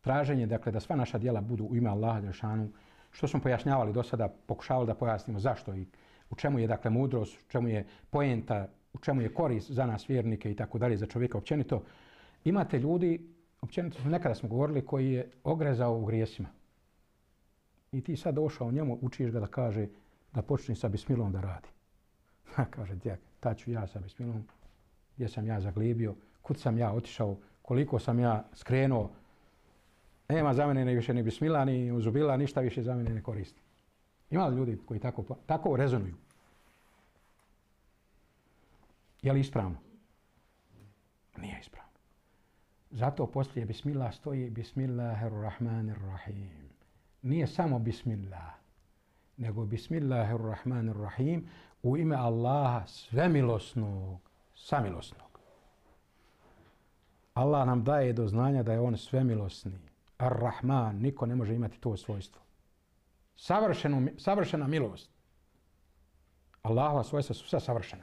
traženje, dakle, da sva naša djela budu u ime Allaha dželešanu, što smo pojašnjavali do sada, pokušavali da pojasnimo zašto i u čemu je, dakle, mudrost, u čemu je poenta, u čemu je korist za nas vjernike i tako dalje, za čovjeka općenito. Imate ljudi, općenito nekada smo govorili, koji je ogrezao u grijesima. I ti sad došao njemu, učiš ga da kaže da počne sa bismilom da radi. Kaže, djek, tad ću ja sa bismilom, gdje sam ja zaglibio, kud sam ja otišao, koliko sam ja skrenuo. Nema za mene više ni bismila, ni uzubila, ništa više za mene ne koristi. Ima li ljudi koji tako rezonuju? Je li ispravno? Nije ispravno. Zato poslije bismillah stoji Bismillahirrahmanirrahim. Nije samo bismillah, nego Bismillahirrahmanirrahim u ime Allaha svemilosnog, samilosnog. Allah nam daje do znanja da je on svemilosni. Ar-Rahman, niko ne može imati to svojstvo. Savršena milost. Allahova svojstva su sve savršena.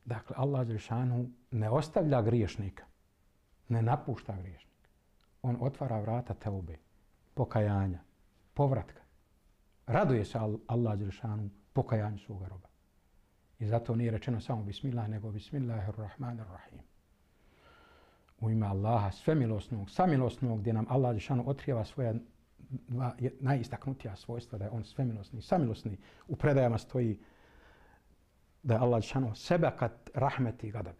Dakle, Allah dželešanu ne ostavlja griješnika, ne napušta griješnika. on otvara vrata teube, pokajanja, povratka. Raduje se Allah dželešanu pokajanju svoga roba. I zato nije rečeno samo bismillah, nego bismillahirrahmanirrahim. U ime Allaha svemilosnog, samilosnog, gdje nam Allah dželešanu otkrijeva svoja najistaknutija svojstva, da je on svemilosni, samilosni. U predajama stoji da je Allah dželešanu sebekat rahmeti gadabi.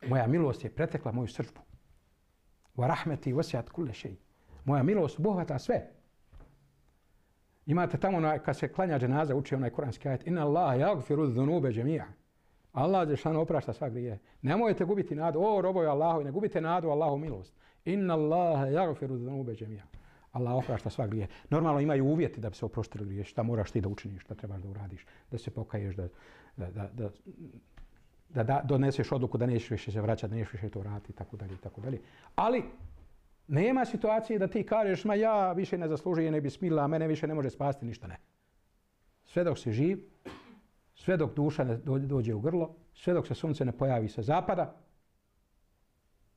Moja milost je pretekla moju srdbu. Wa rahmeti wasi'at kulle shay. Moja milost obuhvata sve. Imate tamo kad se klanja dženaza, uči onaj kuranski ajet: Inna Allaha yaghfiru dhunuba jami'a. Allah dželešanu oprašta sva grijehe. Nemojte gubiti nadu, o robovi Allahovi, ne gubite nadu u Allahu milost. Inna Allaha yaghfiru dhunuba jami'a. Allah oprašta sva grijehe. Normalno imaju uvjeti da bi se oprostili grijehe. Šta moraš ti da učiniš, šta trebaš da uradiš, da se pokaješ, da doneseš odluku da nećeš više se vraćati, nećeš više to raditi, tako dalje. Ali nema situacije da ti kažeš, ma ja više ne zaslužujem, ne bismillah, mene više ne može spasti ništa, ne. Sve dok si živ, sve dok duša ne dođe u grlo, sve dok se sunce ne pojavi sa zapada,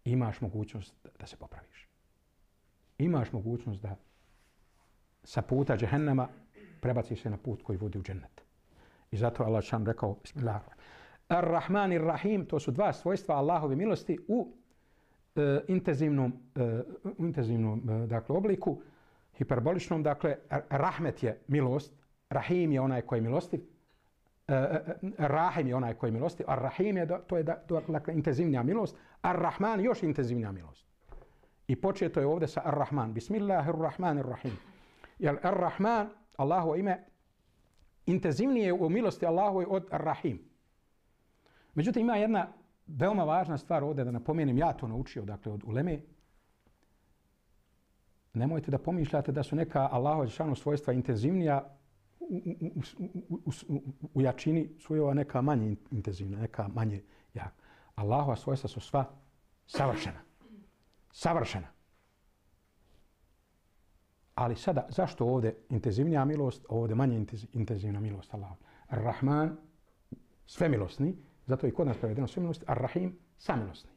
imaš mogućnost da se popraviš. Imaš mogućnost da sa puta džehennema prebaciš se na put koji vodi u džennet. I zato Allah šan rekao, bismillahirrahmanirrahim. Ar-Rahman i Rahim, to su dva svojstva Allahove milosti u intenzivnom dakle, obliku, hiperboličnom. Dakle, rahmet je milost, Rahim je onaj koji je milostiv, Rahim je onaj koji je milostiv, a Rahim je, to je dakle, intenzivnija milost, Ar-Rahman još intenzivnija milost. I početo je ovdje sa Ar-Rahman. Bismillahirrahmanirrahim. Jer Ar-Rahman, Allahovo ime, intenzivnije u milosti Allahove od Ar-Rahim. Međutim, ima jedna veoma važna stvar ovdje da napomenem, ja to naučio, dakle, od uleme. Nemojte da pomišljate da su neka Allahova dželešanu svojstva intenzivnija u jačini, su ova neka manje intenzivna, neka manje jaka. Allahova svojstva su sva savršena. Savršena. Ali sada, zašto ovdje intenzivnija milost, ovdje manje intenzivna milost Allaha? Ar-Rahman, svemilosni, zato i kod nas prevedeno svemilosni, Ar-Rahim, samilosni.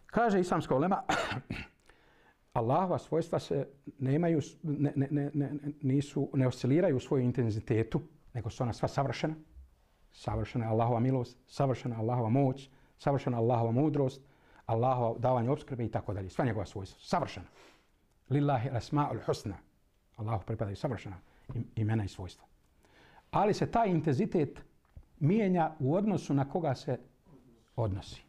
Kaže islamska ulema, Allahova svojstva se ne osciliraju u svoju intenzitetu, nego su ona sva savršena. Savršena je Allahova milost, savršena je Allahova moć, savršena je Allahova mudrost, Allahova davanje opskrbe i tako dalje. Sva njegova svojstva. Savršena. Lillahi al-asma'ul husna. Allahu pripadaju savršena imena i svojstva. Ali se taj intenzitet mijenja u odnosu na koga se odnosi.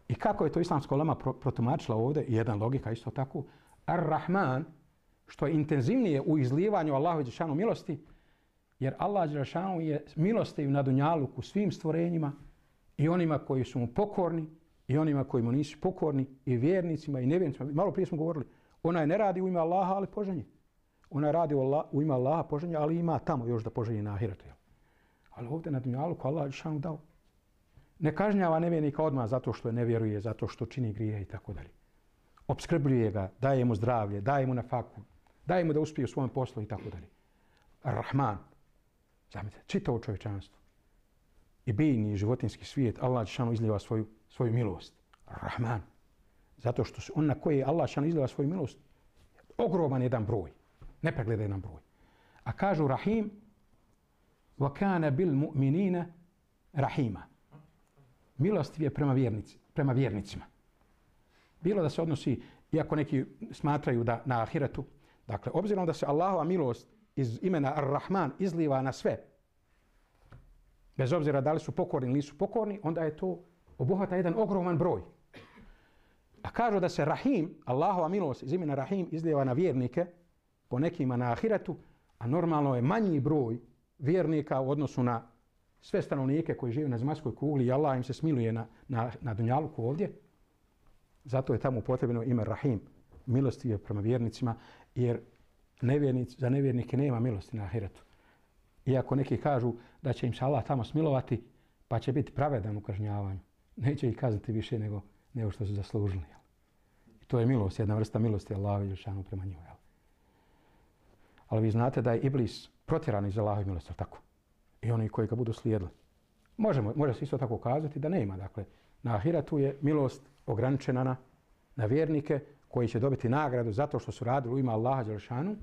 I kako je to islamska ulema protumačila ovdje, jedan logika isto tako, Ar-Rahman, što je intenzivnije u izlivanju Allahove dželešanu milosti, jer Allah dželešanu je milostiv na dunjaluku svim stvorenjima i onima koji su mu pokorni i onima koji mu nisu pokorni, i vjernicima i nevjernicima. Malo prije smo govorili, ona ne radi u ime Allaha, ali poženje. Ona radi u ime Allaha poženje, ali ima tamo još da poženje na ahiretu. Ali ovdje na dunjaluku Allah dželešanu dao. Ne kažnjava nevjernika odmah zato što je ne vjeruje, zato što čini grije i tako dalje. Opskrbljuje ga, daje mu zdravlje, daje mu nafaku, daje mu da uspije u svom poslu i tako dalje. Ar-Rahman, zamislite, čitavo čovječanstvo i biljni i životinski svijet, Allah dželešanu izlijeva svoju milost. Ar-Rahman. Zato što on na koji Allah dželešanu izlijeva svoju milost, ogroman jedan broj, nepregledan jedan broj. A kažu Rahim, wa kana bil mu'minina rahima. Milostiv je prema vjernicima. Bilo da se odnosi, iako neki smatraju da na ahiretu, dakle, obzirom da se Allahova milost iz imena Ar-Rahman izliva na sve, bez obzira da li su pokorni ili nisu pokorni, onda je to obuhvata jedan ogroman broj. A kažu da se Rahim, Allahova milost iz imena Rahim izliva na vjernike, po nekima na ahiretu, a normalno je manji broj vjernika u odnosu na sve stanovnike koji žive na zemaljskoj kugli i Allah im se smiluje na dunjaluku ovdje. Zato je tamo upotrebljeno ime Rahim, milosti je prema vjernicima, jer za nevjernike nema milosti na ahiretu. Iako neki kažu da će im se Allah tamo smilovati, pa će biti pravedan u kažnjavanju. Neće ih kazniti više nego što su zaslužili. I to je milost, jedna vrsta milosti Allahove dželešanu prema njima. Ali vi znate da je Iblis protjeran iz Allahove milosti, tako? I oni koji ga budu slijedili. Može se isto tako kazati da nema. Dakle, na ahiretu je milost ograničena na na vjernike koji će dobiti nagradu zato što su radili u ime Allaha dželešanu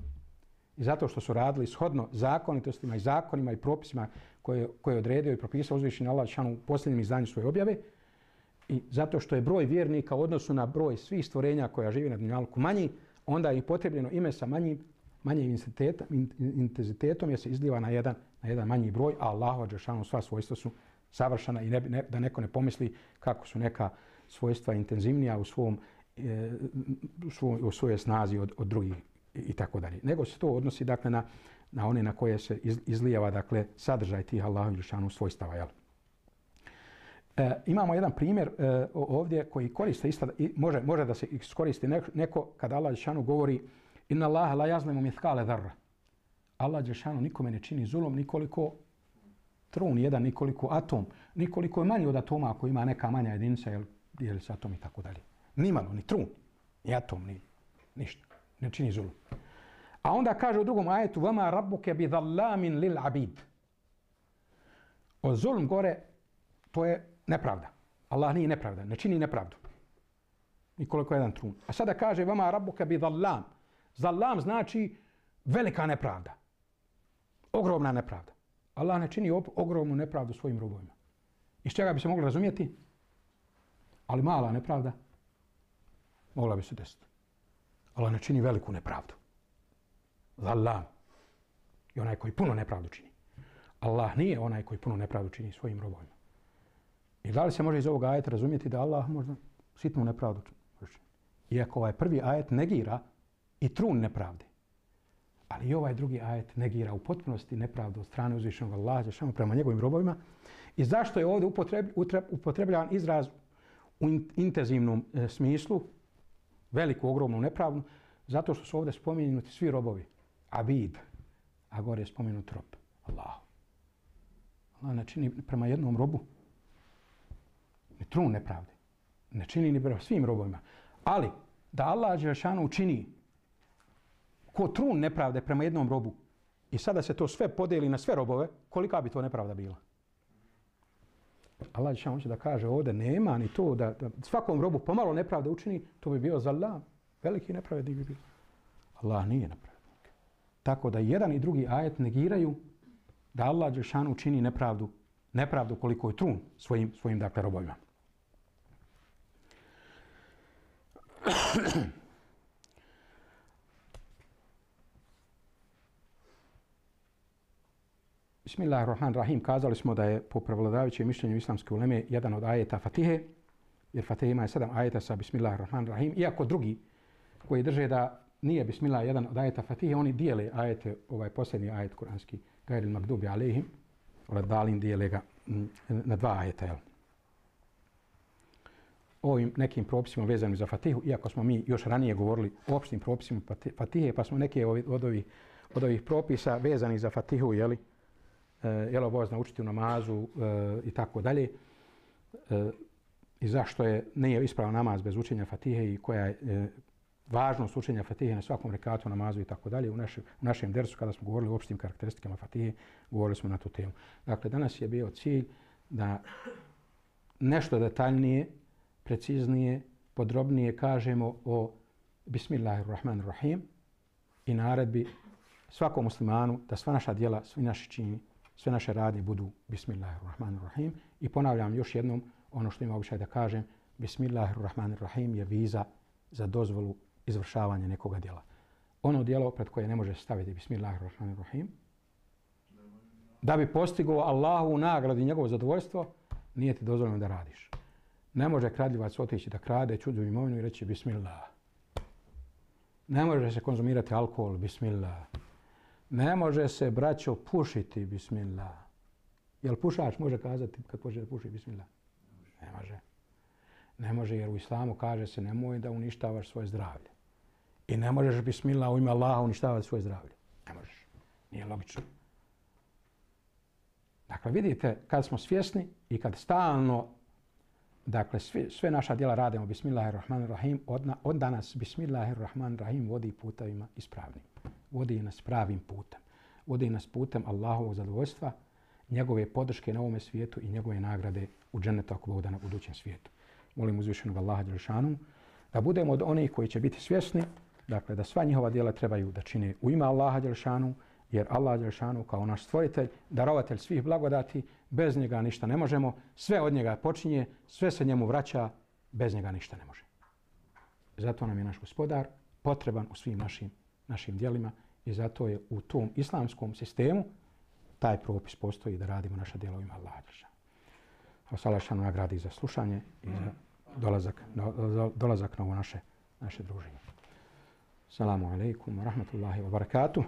i zato što su radili shodno zakonitostima i zakonima i propisima koje je odredio i propisao uzvišeni Allah dželešanu u posljednjem izdanju svoje objave i zato što je broj vjernika u odnosu na broj svih stvorenja koja živi na dunjalku manji, onda je potrebno ime sa manjim intenzitetom jer se izliva na jedan manji broj, a Allahu dželešanu sva svojstva su savršena i da neko ne pomisli kako su neka svojstva intenzivnija u svojoj snazi od drugih i tako dalje. Nego se to odnosi dakle na one na koje se izlijeva dakle sadržaj tih Allahu dželešanu svojstava. Jel? Imamo jedan primjer ovdje koji koriste isto, može da se iskoristi neko kada Allah dželešanu govori inna Allaha la yazlimu mithqala dharra. Allah dželešanu nikome ne čini zulum nikoliko trun jedan, nikoliko atom, nikoliko je manji od atoma ako ima neka manja jedinica, dijeli se atom i tako dalje. Nimalo, ni trun, ni atom, ni ništa. Ne čini zulum. A onda kaže u drugom ajetu vama rabbuke bi dhallamin lil abid. O zulum gore, to je nepravda. Allah nije nepravda, ne čini nepravdu. Nikoliko jedan trun. A sada kaže vama rabbuke bi dhallam. Dhallam znači velika nepravda. Ogromna nepravda. Allah ne čini ogromnu nepravdu svojim robovima. Iz čega bi se moglo razumjeti? Ali mala nepravda mogla bi se desiti. Allah ne čini veliku nepravdu. Dhallam je onaj koji puno nepravdu čini. Allah nije onaj koji puno nepravdu čini svojim robovima. I da li se može iz ovog ajeta razumjeti da Allah možda sitnu nepravdu čini? Iako ovaj prvi ajet negira i trun nepravde. Ali i ovaj drugi ajet negira u potpunosti nepravdu od strane uzvišenog Allaha dželešanu prema njegovim robovima. I zašto je ovdje upotrebljavan izraz u intenzivnom smislu, veliku, ogromnu nepravdu? Zato što su ovdje spomenuti svi robovi. Abid, a gore je spomenut rob. Allah. Allah ne čini prema jednom robu ni trun nepravde. Ne čini ni prema svim robovima. Ali da Allah dželešanu učini ko trun nepravde prema jednom robu i sada se to sve podeli na sve robove, kolika bi to nepravda bila? Allah dželešanu hoće da kaže ovdje nema ni to da svakom robu pomalo nepravde učini, to bi bio zallam. Veliki nepravednik bi bio. Allah nije nepravednik. Tako da jedan i drugi ajet negiraju da Allah dželešanu čini nepravdu koliko je trun svojim dakle robovima. Bismillahirrahmanirrahim. Kazali smo da je po prevladavajućem mišljenju islamske uleme jedan od ajeta Fatihe, jer Fatiha ima 7 ajeta sa Bismillahirrahmanirrahim. Iako drugi koji drže da nije Bismillah jedan od ajeta Fatihe, oni dijele ajete, ovaj posljednji ajet kuranski, Gajril Magdubi alejhim, Dalin dijele ga na 2 ajeta. Jel? Ovim nekim propisima vezanim za Fatihu, iako smo mi još ranije govorili o opštim propisima Fatihe, pa smo neke od ovih propisa vezanih za Fatihu, jeli, jel obavezno učiti u namazu i tako dalje. I zašto nije ispravan namaz bez učenja Fatihe i koja je važnost učenja Fatihe na svakom rekatu, namazu i tako dalje. U našem dersu kada smo govorili o opštim karakteristikama Fatihe, govorili smo na tu temu. Dakle, danas je bio cilj da nešto detaljnije, preciznije, podrobnije kažemo o Bismillahirrahmanirrahim i naredbi svakom muslimanu da sva naša djela, svi naši čini, sve naše radnje budu Bismillahirrahmanirrahim. I ponavljam još jednom ono što ima običaj da kažem, Bismillahirrahmanirrahim je viza za dozvolu izvršavanja nekoga djela. Ono djelo pred koje ne može staviti Bismillahirrahmanirrahim, da bi postigao Allahu nagradu i njegovo zadovoljstvo, nije ti dozvoljeno da radiš. Ne može kradljivac otići da krade čuđu imovinu i reći Bismillah. Ne može se konzumirati alkohol, Bismillah. Ne može se, braćo, pušiti, Bismillah. Jel pušač može kazati kad počne da puši Bismillah? Ne može. Ne može jer u islamu kaže se nemoj da uništavaš svoje zdravlje. I ne možeš Bismillah u ime Allaha uništavati svoje zdravlje. Ne možeš. Nije logično. Dakle, vidite, kad smo svjesni i kad stalno, dakle, sve naša djela radimo Bismillahirrahmanirrahim, onda nas Bismillahirrahmanirrahim vodi putevima ispravnim. Vodi nas pravim putem. Vodi nas putem Allahovog zadovoljstva, njegove podrške na ovome svijetu i njegove nagrade u džennetu ako Bog da na budućem svijetu. Molim uzvišenog Allaha dželešanu da budemo od onih koji će biti svjesni, dakle da sva njihova djela trebaju da čine u ime Allaha dželešanu, jer Allah dželešanu kao naš stvoritelj, darovatelj svih blagodati, bez njega ništa ne možemo, sve od njega počinje, sve se njemu vraća, bez njega ništa ne može. Zato nam je naš gospodar potreban u svim našim djelima i zato je u tom islamskom sistemu taj propis postoji da radimo naša djela u ime Allaha dželešanu. Allah šanu nagradi za slušanje i za dolazak na ovo naše druženje. Assalamu alaikum wa rahmatullahi wa barakatuh.